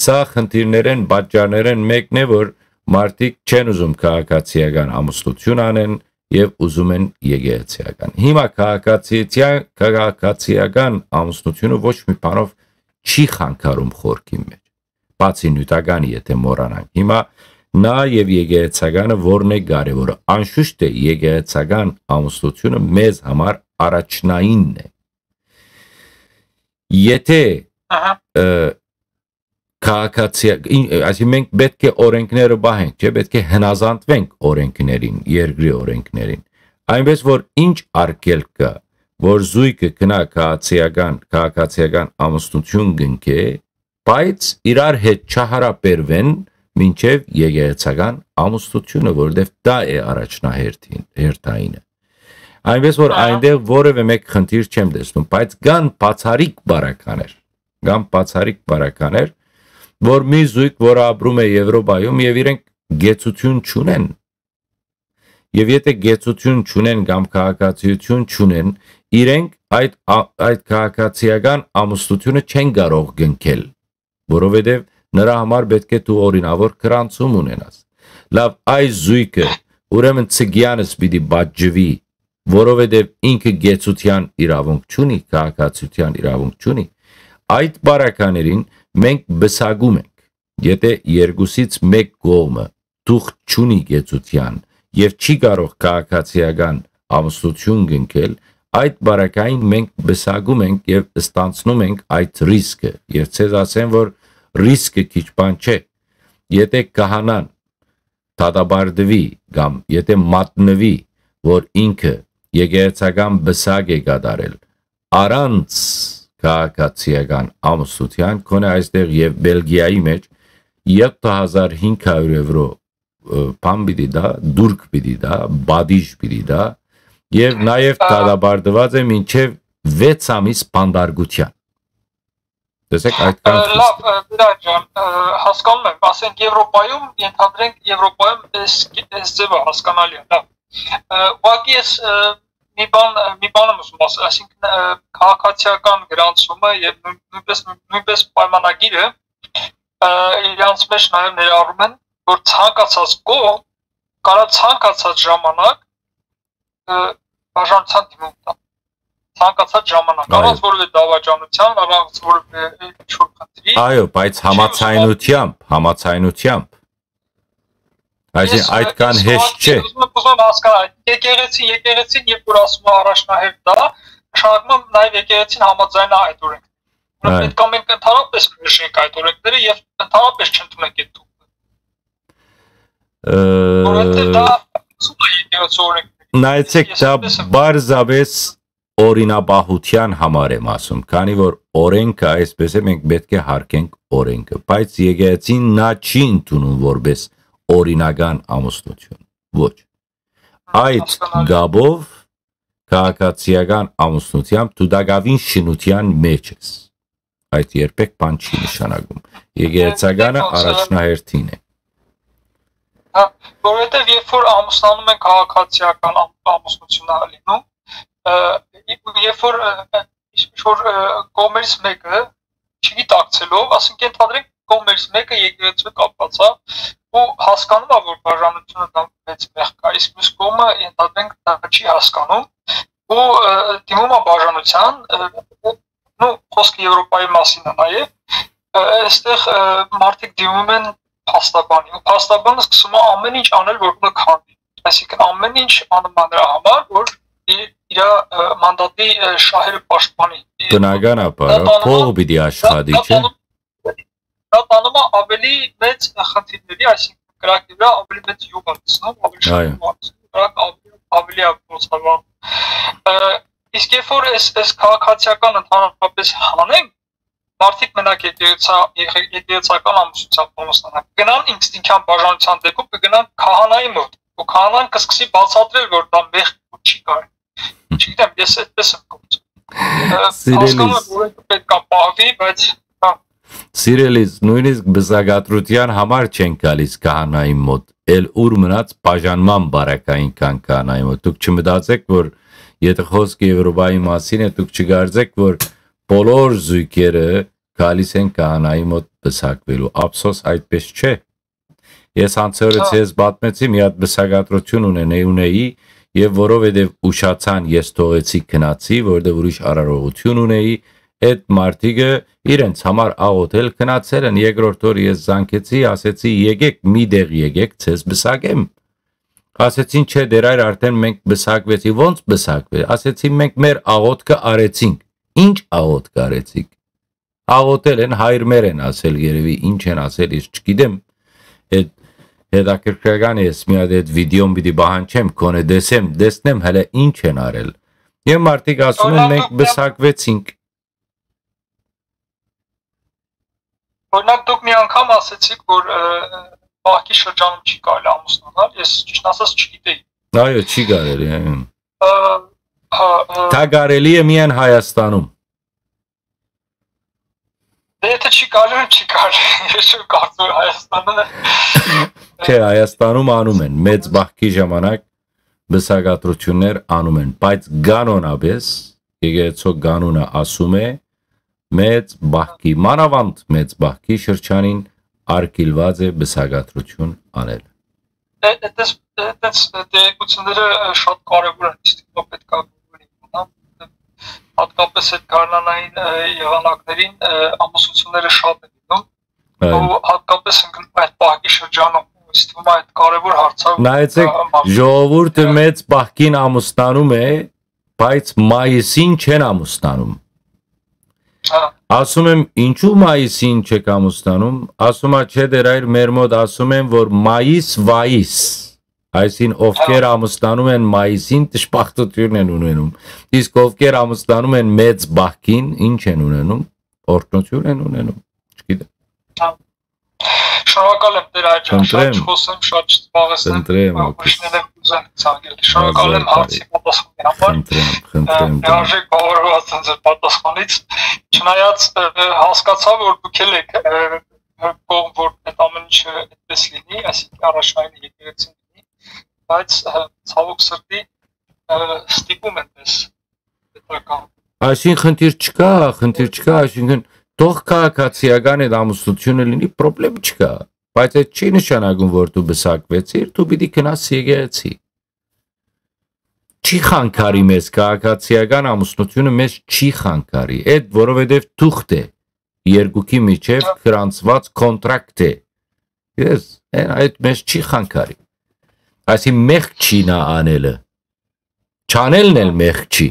սա խնդիրներեն, պատճառներեն մեկն է, որ մարդիկ չեն ուզում քաղաքացիական ամուսնություն անեն եւ ուզում են եկեղեցիական։ Հիմա քաղաքացիության, քաղաքացիական ամուսնությունը ոչ մի բանով չի խանգարում խորքին մեջ, բացի նյութականի, եթե մոռանանք։ Հիմա նա եւ եկեղեցականը որն է կարեւորը։ Անշուշտ է, եկեղեցական ամուսնությունը մեզ համար առաջնայինն է։ Եթե, Ահա։ ը, քաղաքացի, ին-, այսինքն մենք պետք է օրենքները պահենք, չէ՞, պետք է հնազանդվենք օրենքներին, երկրի օրենքներին։ Այնպես որ ինչ արգելք կա, որ զույգը գնա քաղաքացիական, քաղաքացիական ամուսնություն կնքէ, բայց իրար հետ չհարաբերվեն մինչեւ եկեղեցական ամուսնությունը, որովհետեւ դա է առաջնահերթին, հերթայինը։ Այնպես որ Ահա։ այնտեղ որևէ մեկ խնդիր չեմ տեսնում, բայց կան բացառիկ բարականեր, կան բացառիկ բարականեր, որ մի զույգ, որ ապրում է Եվրոպայում եւ իրենք գեցություն չունեն, եւ եթե գեցություն չունեն կամ քաղաքացիություն չունեն, իրենք այդ ա-, այդ քաղաքացիական ամուսնությունը չեն կարող կնքել, որովհետեւ նրա համար պետք է դու օրինավոր գրանցում ունենաս։ Լավ, այս զույգը ուրեմն Ցգեանս պիտի պատժվի, որովհետեւ ինքը գեցության իրավունք չունի, քաղաքացիության իրավունք չունի։ Այդ բարականերին մենք բսակում ենք, եթե երկուսից մեկ կողմը թուղթ չունի գեցության եւ չի կարող քաղաքացիական ամուսնություն կնքել, այդ բարակային մենք բսակում ենք եւ ստանցնում ենք այդ ռիսկը։ Եւ ցեզ ասեմ, որ ռիսկը քիչ բան չէ։ Եթե քահանան դատապարտվի կամ եթե մատնվի, որ ինքը եկեղեցական բսակ է կատարել, առանց քաղաքացիական ամուսնության, քոնե այստեղ եւ Բելգիայի մեջ յոթ հազար հինգ հարյուր եվրո, ը, բան պիտի դա, դուրք պիտի դա, պատիժ պիտի դա, եւ նաեւ Ա, դատապարտված է մինչեւ վեց ամիս բանտարկության։ Տեսեք, այդքան ը, խիստ։ Լավ, ը, Վիրա ջան, ը, հասկանում եմ, ասենք Եվրոպայում, ենթադրենք Եվրոպայում էս, էս ձևը հասկանալի է, լավ։ Ը, ուղղակի ես, ը, մի բան, ը, մի բան եմ ուզում ասել, այսինքն, ը, քաղաքացիական գրանցումը եւ նույն-, նույնպես, նույնպես պայմանագիրը, ը, իրանց մեջ նաեւ ներառում են, որ ցանկացած կողմ կարա ցանկացած ժամանակ, ը, բաժանության դիմում տա։ ցանկացած ժամանակ, Այո։ առանց որևէ դավաճանության, առանց որևէ ինչ-որ խնդրի։ Այո, բայց Չի ուզում համաձայնությամբ, համաձայնությամբ։ Այսինքն՝ Ես, այդքան ես հեշտ ուղղակի չէ։ Ուզում եմ, ուզում եմ հասկանալ, եկեղեցին, եկեղեցին, երբ որ ասում է առաջնահերթ դա, նշանակում է նաև եկեղեցին համաձայն է այդ օրենքին։ Այո։ Պետք է մենք ընդհանրապես մերժենք այդ օրենքները եւ ընդհանրապես չընդունենք այդ թուղթը։ Ը, Որովհետեւ դա սուտ է եկեղեցու օրենքների։ Նայեցեք, Ես դա այդպես եմ պարզապես օրինապահութեան համար եմ ասում, քանի որ օրենքը, այսպես է, մենք պէտք է յարգենք օրենքը, բայց եկեղեցին նա չի ընդունում որպես օրինական ամուսնություն։ Ոչ։ Այդ Հասկանալի։ կապով քաղաքացիական ամուսնությամբ դու տակաւին շինության մեջ ես։ Այդ երբեք բան չի նշանակում։ Եկեղեցականը Եկեղեցը առաջնահերթին է։ Հա, որովհետեւ երբ որ ամուսնանում են քաղաքացիական ամ-, ամուսնություն ա լինում, ը, երբ որ, ը, ինչ որ, ը, կողմերից մեկը չի գիտակցելով, ասենք, ենթադրենք, կողմերից մեկը եկեղեցու կապված է ու հասկանում է, որ բաժանությունը դա մեծ մեղք է, իսկ մյուս կողմը, ենթադրենք, դա չի հասկանում ու, ը, դիմում է բաժանության, ը, ու, նու, խոսքը Եվրոպայի մասին է նաև, ը, այստեղ, ը, մարդիկ դիմում են փաստաբանի ու փաստաբանը սկսում է ամեն ինչ անել, որ մը քանդի, այսինքն՝ ամեն ինչ անում է նրա համար, որ իր, իրա, ը, մանդատի, ը, շահերը պաշտպանի։ Բնականաբար, Դա տանում է փող պիտի աշխատի, դա չէ՞։ տանում, դա տանում է ավելի մեծ խնդիրների, այսինքն՝ կրակի վրա ավելի մեծ յուղ է գցնում, ավելի շատ Այո։ յուղ է գցնում, կրակ ավելի, ավելի է գործարանում։ Ը, իսկ երբ որ այս, այս քաղաքացիական ընդհանրապես հանենք, մարդիկ մենակ եկեղեցա-, եկեղեցական ամուսնությամբ կամուսնանան, կգնան ինքնին բաժանության դեպքում, կգնան քահանայի մոտ, ու քահանան կսկսի բացատրել, որ դա մեղք ու չի կարելի։ Չգիտեմ, ես այդպես եմ գործում։ Ը, Սիրելիս։ Հասկանում եմ, որ պետք է պահվի, բայց, հա։ Սիրելիս, նույնիսկ բզակատրության համար չեն գալիս քահանայի մոտ, էլ ուր մնաց բաժանման բարակային կան քահանայի մոտ։ Դուք չմտածեք, որ եթե խոսքը Եվրոպայի մասին է, դուք չկարծեք, որ բոլոր զույգերը գալիս են քահանայի մոտ բզակվելու։ Ափսոս, այդպես չէ։ Ես անցորը Հա։ ձեզ պատմեցի, մի հատ բզակատրություն ունենեի, ունեի, եւ որովհետեւ ուշացան, ես թողեցի, գնացի, որովհետեւ ուրիշ արարողություն ունեի, այդ մարդիկը իրենց համար աղոթել գնացել են։ Երկրորդ օր ես զանգեցի, ասեցի՝ «Եկեք, մի տեղ եկեք, ձեզ բզակեմ»։ Ասեցին՝ «Չէ, դեր այր, արդեն մենք բզակվեցի»։ «Ո՞նց բզակվեց»։ Ասեցին՝ «Մենք մեր աղոթքը արեցինք»։ «Ի՞նչ աղոթք արեցիք»։ Աղոթել են, հայր մեր են ասել, երևի ինչ են ասել, ես չգիտեմ։ Այդ հետաքրքրական է, ես մի հատ այդ վիդեոն պիտի պահանջեմ, քոնե տեսեմ, տեսնեմ հələ ինչ են արել։ Եւ մարդիկ ասում են՝ Օրինակ, «Մենք դուք մի բզակվեցինք»։ Օրինակ, դուք մի անգամ ասեցիք, որ, ը, պահքի շրջանում չի կարելի ամուսնանալ, ես ճիշտ ասած չգիտեի։ Այո, չի կարելի, այո։ Ը, հա, ը, Դա կարելի է միայն Հայաստանում։ Դե, եթե չի կարելի, չի կարելի։ Ես չեմ կարծում, որ Հայաստանը Չէ, Հայաստանում անում են, մեծ պահքի ժամանակ բզակատրություններ անում են, բայց կանոնապես, եկեղեցու կանոնը ասում է, մեծ պահքի, մանավանդ մեծ պահքի շրջանին արգիլված է բզակատրություն անել։ Դե, այդպես, այդպես տեղեկությունները, ը, շատ կարևոր են, իսկ դու պետք է գովորի, հա։ Հատկապես այդ գարնանային, ը, եղանակներին, ը, ամուսնությունները շատ են լինում, Այո։ ու հատկապես ընկնում այդ պահքի շրջանում, ըստ ում այդ կարևոր հարցը Նայեցեք, կա, մա- ժողովուրդը Հա։ մեծ պահքին ամուսնանում է, բայց մայիսին չեն ամուսնանում։ Հա։ Ասում եմ, ինչու մայիսին չեք ամուսնանում։ Ասում ա, չէ, դեր այր, մեր մոտ ասում են, որ մայիս վայիս, այսին ովքեր Հա։ ամուսնանում են մայիսին, դժբախտություն են ունենում, իսկ ովքեր ամուսնանում են մեծ պահքին, ինչ են ունենում, օրհնություն են ունենում, չգիտեմ։ Հա։ Շնորհակալ եմ, Տեր Աջան, շատ Խնդրեմ։ չխոսեմ, շատ չզբաղեցնեմ, Խնդրեմ, ուրիշներն Ակիս։ եմ ուզեն ցանկել։ Շնորհակալ եմ Հազար հարցի բարի։ պատասխանի համար։ Խնդրեմ, խնդրեմ, Ը, Տեր։ լիարժեք բավարարված եմ ձեր պատասխանից։ Չնայած, ը, ը, հասկացա, որ դուք էլ եք, ը, ը, կողմ, որ այդ ամեն ինչը այդպես լինի, այսինքն առաջնային եկեղեցին լինի, բայց, ը, ցավոք սրտի, ը, ստիպում են մեզ պետական Այսինքն խնդիր չկա, խնդիր չկա, այսինքն թող քաղաքացիական այդ ամուսնությունը լինի, պրոբլեմ չկա, բայց այդ չի նշանակում, որ դու բսակվեցիր, դու պիտի գնաս եկեղեցի։ չի խանգարի մեզ, քաղաքացիական ամուսնութիւնը մեզ չի խանգարի, այդ որովհետեւ թուղթ է, երկուքի միջեւ գրանցուած կոնտրակտ է։ Ես, այն, այդ մեզ չի խանգարի։ Այսինքն՝ մեղք չի նա անելը, չանելն էլ մեղք չի։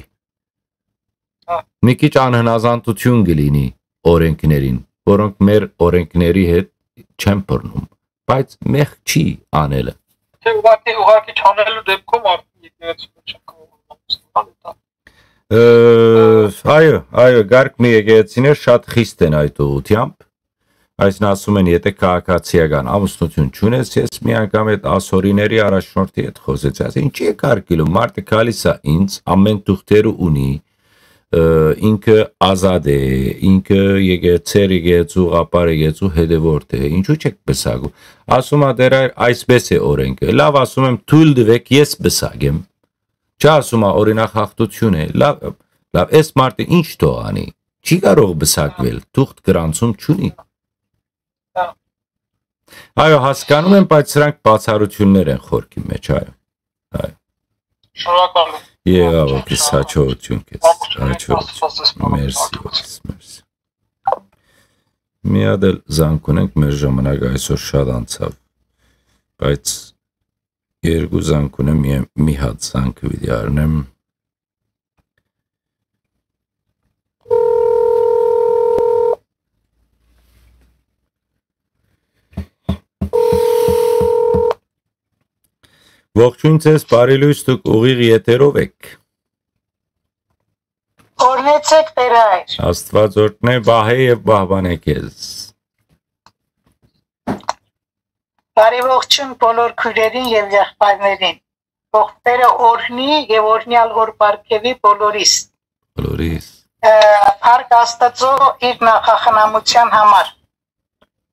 Մի քիչ անհնազանդութիւն կը լինի օրէնքներին, որոնք մեր օրէնքների հետ չեն բռնում, բայց մեղք չի անելը։ Թե ուղղակի, ուղղակի չանելու դեպքում արդեն եկեղեցի չեն կարող։ Ը, այո, այո, կարգ մի եկեղեցիներ շատ խիստ են այդ ուղղութեամբ։ Այսինքն՝ ասում են, եթե քաղաքացիական ամուսնութիւն չունես, ես մի անգամ այդ ասորիների առաջնորդի հետ խօսեցի, ասի, ինչի՞ է կարգ գլում, մարդը գալիս է ինձ, ամեն թուղթերը ունի, ը, ինքը ազատ է, ինքը եկեղեցի, եկեղեցու, ղապար եկեղեցու հետեւորդ է, ինչու՞ չեք պսակում։ Ասում ա, դեռ այ-, այսպես է օրէնքը։ Լավ, ասում եմ, թոյլ տուէք, ես պսակեմ։ Չէ, ասում ա, օրինակ, հաղթութիւն է։ Լավ, լավ, այս մարդը ինչ թող անի, չի կարող պսակվել, թուղթ գրանցում չունի։ Այո, հասկանում եմ, բայց սրանք բացառութիւններ են խորքի մեջ, այո։ Այո։ Շնորհակալ եմ։ Եղա, ոգիս, հաջողություն քեզ, հաջողություն։ Մերսի, ոգիս, մերսի։ Մի հատ էլ զանգ ունենք, մեր ժամանակ այսօր շատ անցաւ, բայց երկու զանգ ունեմ, մի, մի հատ զանգը պիտի առնեմ։ Ողջույն ձեզ, բարի լույս, դուք ուղիղ եթերով էք։ Օրհնեցեք, Տեր հայր։ Աստուած օրհնէ, պահէ եւ պահպանէ քեզ։ Բարի ողջույն բոլոր քոյրերին եւ եղբայրներին։ Ողբերը օրհնի եւ օրհնեալ հոր պարգեւի բոլորիս։ Բոլորիս։ Ը, փառք Աստծո իր նախախնամության համար։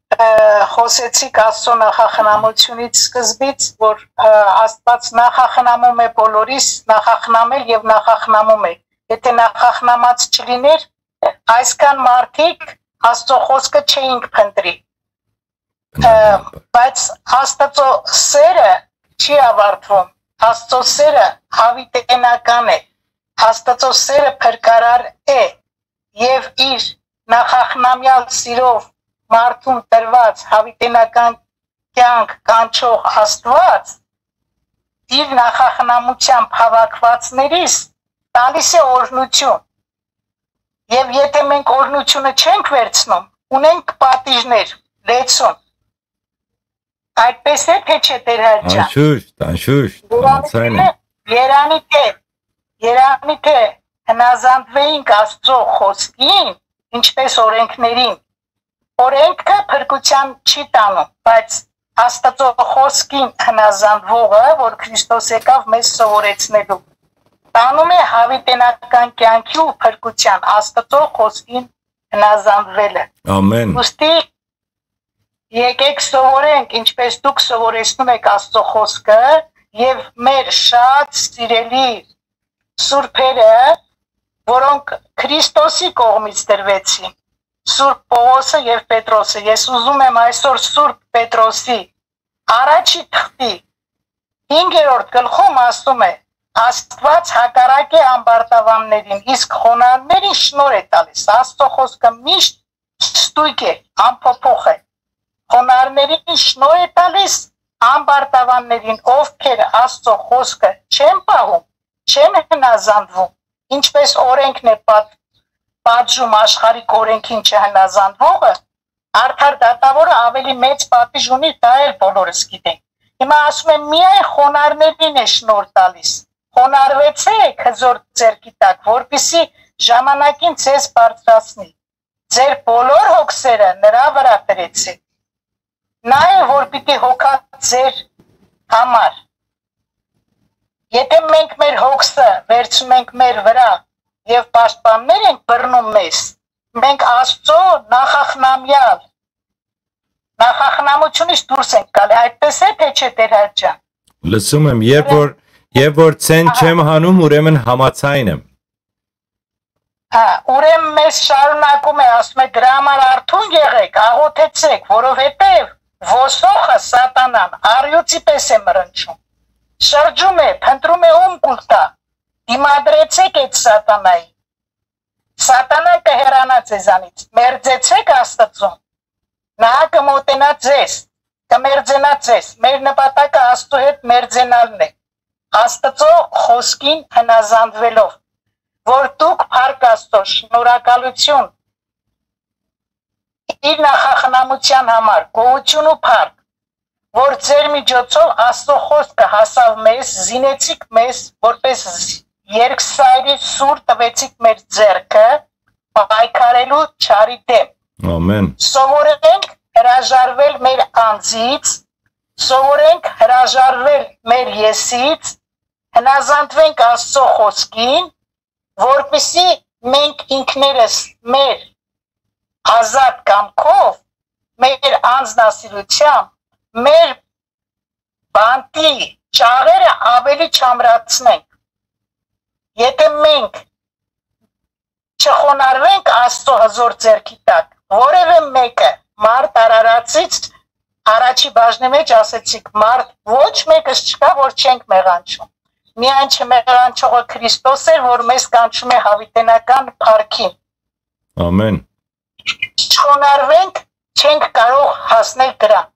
Ը, խօսեցիք Աստծո նախախնամությունից սկզբից, որ, ը, Աստված նախախնամում է բոլորիս, նախախնամել եւ նախախնամում է։ Եթե նախախնամած չլիներ, այսքան մարդիկ Աստծո խօսքը չէինք փնտրի։ Ը, բայց Աստծո սերը չի ավարտվում։ Աստծո սերը հավիտենական է։ Աստծո սերը փրկարար է եւ իր նախախնամեալ սիրով մարդուն տրված հավիտենական կյանք կանչող Աստված իր նախախնամությամբ հավաքվածներիս տալիս է օրհնություն։ Եվ եթե մենք օրհնությունը չենք վերցնում, ունենք պատիժներ, լեցուն։ Այդպես է, թե չէ, Տեր հայր ջան։ Անշուշտ, անշուշտ, Երանի համաձայն եմ։ Թէ, երանի թէ, երանի թէ հնազանդվեինք Աստծո խոսքին, ինչպես օրենքներին։ Օրենքը փրկության չի տանում, բայց Աստծո խոսքին հնազանդվողը, որ Քրիստոս եկաւ մեզ սովորեցնելու, տանում է հավիտենական կյանքի ու փրկության Աստծո խոսքին հնազանդվելը։ Ամեն։ Ուստի եկեք սովորենք, ինչպես դուք սովորեցնում եք Աստծո խոսքը, եւ մեր շատ սիրելի սուրբերը, որոնք Քրիստոսի կողմից տրվեցին, Սուրբ Պողոսը եւ Պետրոսը։ Ես ուզում եմ այսօր Սուրբ Պետրոսի առաջի թղթի հինգերորդ գլխում ասում է. «Աստված հակառակ է ամբարտավաններին, իսկ խոնարհներին շնորհ է տալիս»։ Աստծո խոսքը միշտ ստույգ է, անփոփոխ է։ Խոնարհներին շնորհ է տալիս, ամբարտավաններին, ովքեր Աստծո խոսքը չեն պահում, չեն հնազանդվում, ինչպես օրենքն է պատ-, պատժում աշխարհիկ օրենքին չհնազանդվողը, արդար դատավորը ավելի մեծ պատիժ ունի, դա էլ բոլորս գիտենք։ Հիմա ասում եմ, միայն խոնարհներին է շնորհ տալիս։ Խոնարհվեցեք հզոր ձեռքի տակ, որպեսզի ժամանակին ձեզ բարձրացնի։ Ձեր բոլոր հոգսերը նրա վրա դրեցեք։ Նա է, որ պիտի հոգա ձեր համար։ Եթե մենք մեր հոգսը վերցնում ենք մեր վրա եւ պաշտպաններ ենք բռնում մեզ, մենք Աստծո նախախնամյալ, նախախնամությունից դուրս ենք գալի, այդպես է, թե չէ, Տեր հայր ջան։ Լսում եմ, երբ որ, երբ որ ցեն չեմ հանում, ուրեմն համաձայն եմ։ Հա, ուրեմն մեզ շարունակում է, ասում է, դրա համար արթուն եղեք, աղոթեցեք, որովհետև ոսոխը, սատանան, առյուծի պես է մրնչում։ Շրջում է, փնտրում է ում կուլ տայ, դիմադրեցէք այդ սատանային։ Սատանան կը հեռանայ ձեզանից, մերձեցէք Աստծուն։ Նա կը մօտենայ ձեզ, կը մերձենայ ձեզ։ Մեր նպատակը Աստծու հետ մերձենալն է, Աստծու խօսքին հնազանդուելով, որ դուք փառք Աստծո, շնորհակալություն իր նախախնամության համար, գոհություն ու փառք, որ ձեր միջոցով Աստծո խօսքը հասաւ մեզ, զինեցիք մեզ, որպես երկսայրի սուր տուեցիք մեր ձեռքը պայքարելու չարի դէմ։ Ամեն։ Սովորենք հրաժարվել մեր անձից, սովորենք հրաժարվել մեր եսից, հնազանդվենք Աստծո խօսքին, որպեսզի մենք ինքներս մեր ազատ կամքով, մեր անձնասիրությամբ, մեր բանտի ճաղերը ավելի չամրացնենք։ Եթե մենք չխոնարհվենք Աստծո հզոր ձեռքի տակ, որևէ մեկը մարդ արարածից առաջի բաժնի մեջ ասեցիք, մարդ ոչ մեկս չկա, որ չենք մեղանչում։ Միայն չմեղանչողը Քրիստոս էր, որ մեզ կանչում է հավիտենական փառքին։ Ամեն։ Չխոնարհվենք, չենք կարող հասնել դրան։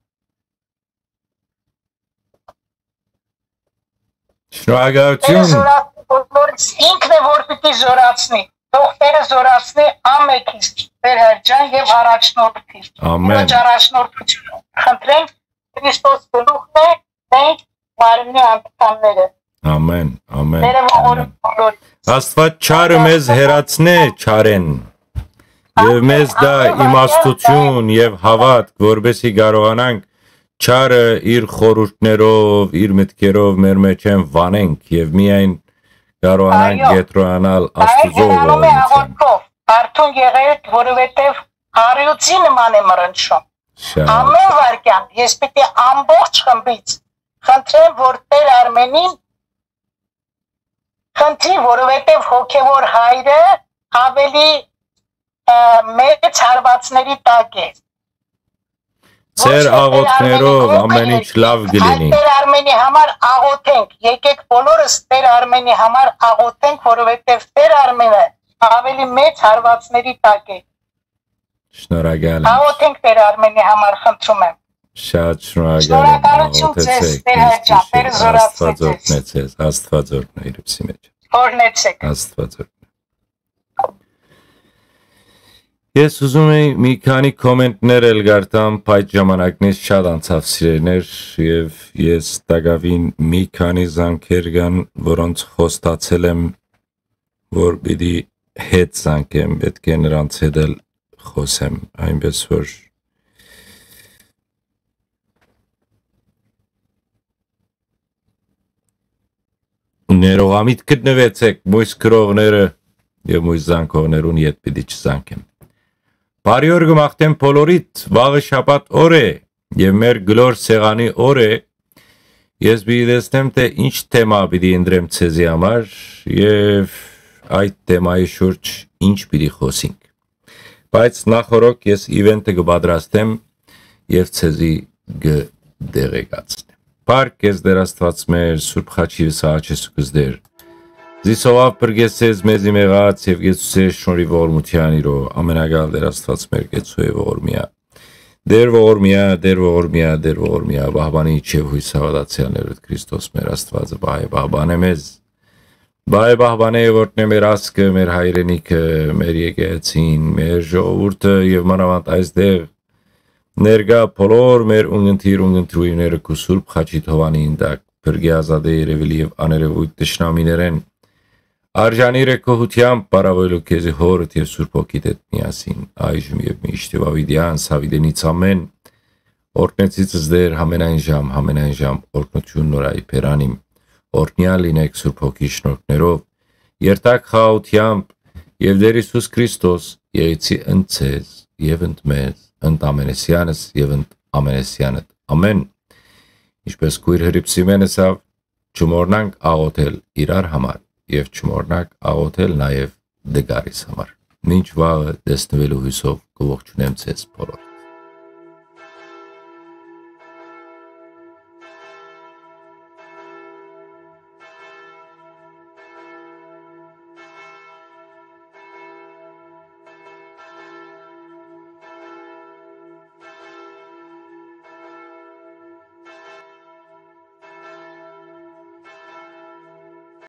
Շնորհակալություն։ Տերը զորացնի բոլորիս, ինքն է, որ պիտի զորացնի։ Թող Տերը զորացնի ամենքիս, Տեր Հերճան, և առաջնորդի։ Ամեն։ Առաջնորդություն խնդրենք Քրիստոս գլուխն է, մենք մարմնի անդամները։ Ամեն, ամեն, Տերը ողորմի ամեն։ Բոլորիս։ Աստված չարը մեզ հեռացնե չարեն, և մեզ դա իմաստություն և հավատք, որպեսզի կարողանանք չարը իր խորհուրդներով, իր մտքերով մեր մեջ են վանենք և միայն կարողանանք Այո։ Ետրոյանալ Այո, Աստուծո գնանում է ողորմությամբ։ Աղոթքով, արթուն եղեք, որովհետև առյուծի նման է մռնչում։ Շատ։ Ամեն վարքյան ես պիտի ամբողջ խմբից խնդրեմ, որ Տեր Արմենին խնդրի, որովհետև հոգևոր հայրը ավելի, ը, մեծ հարվածների տակ է։ Ձեր աղոթքներով ամեն ինչ լավ կլինի։ Տեր Արմենի համար աղոթենք, եկեք բոլորս Տեր Արմենի համար աղոթենք, որովհետև Տեր Արմենը ավելի մեծ հարվածների տակ է։ Շնորհակալ եմ։ Աղոթենք Տեր Արմենի համար, խնդրում եմ։ Շատ շնորհակալ եմ, շնորհակալություն աղոթեցեք, ձեզ, Տեր Հերճան, Տերը զորացնի ձեզ։ Աստված օրհնեցեք, Աստված օրհնե իր ուսի մեջ։ Օրհնեցեք։ Աստված օրհնե։ Ես ուզում էի մի քանի կոմենտներ էլ գարտամ, բայց ժամանակն ես շատ անցավ, սիրելիներ, և ես տակավին մի քանի զանգեր կան, որոնց խոստացել եմ, որ պիտի հետ զանգեմ, պետք է նրանց հետ էլ խոսեմ, այնպես որ ներողամիտ գտնուեցեք, մոյս գրողները և մոյս զանգողներուն ետ պիտի չզանգեմ։ Բարի օր կը մաղթեմ բոլորիդ, վաղը շաբաթ օր է և մեր գլոր սեղանի օր է, ես պիտի տեսնեմ, թե ինչ թեմա պիտի ընտրեմ ձեզի համար և այդ թեմայի շուրջ ինչ պիտի խոսենք։ Բայց նախօրոք ես իվենթը կը պատրաստեմ և ձեզի կը տեղեկացնեմ։ Փառք քեզ, Տեր Աստված մեր, Սուրբ Խաչի Սաղաչես ու կզդեր։ Զիսովավ պրկեսես մեզի մեղած և կեցուցես շնորհի ողորմության իրով, ամենակալ Տեր Աստված մեր, կեցու է ողորմիա։ Տեր ողորմիա, Տեր ողորմիա, Տեր ողորմիա, պահպանիչ և հույս հաւատացեալներուդ Քրիստոս մեր Աստվածը պահ է, պահպանե մեզ։ Պահ է, պահպանե, որդնե մեր ազգը, մեր հայրենիքը, մեր եկեղեցին, մեր ժողովուրդը և մանավանդ այստեղ ներկայ բոլոր մեր ունգընտիր, ունգընտրուիրները քու Սուրբ Խաչի թովանին տակ, փրկի ազատե երևելի և աներևույթ թշնամիներէն, արժանիր է գոհությամբ պարաւելու քեզի Հորդ և Սուրբ Հոգիդ հետ միասին, այժմ և միշտ և ավիտեան, սավիտենից ամեն, օրհնեցիցս Տեր, համենայն ժամ, համենայն ժամ, օրհնություն նորայի բերանիմ, օրհնյալ լինեք Սուրբ Հոգի շնորհներով, երթակ խաղաղությամբ, և Տեր Հիսուս Քրիստոս եղեցի ընդ ձեզ և ընդ մեզ, ընդ ամենեսյանս և ընդ ամենեսյանդ։ Ամեն։ Ինչպես քույր Հրիփսիմեն ըսավ, չմոռնանք աղոթել իրար համար և չմոռնանք աղոթել նաև դգարիս համար։ Մինչ վաղը տեսնվելու հույսով կողջունեմ ձեզ բոլոր։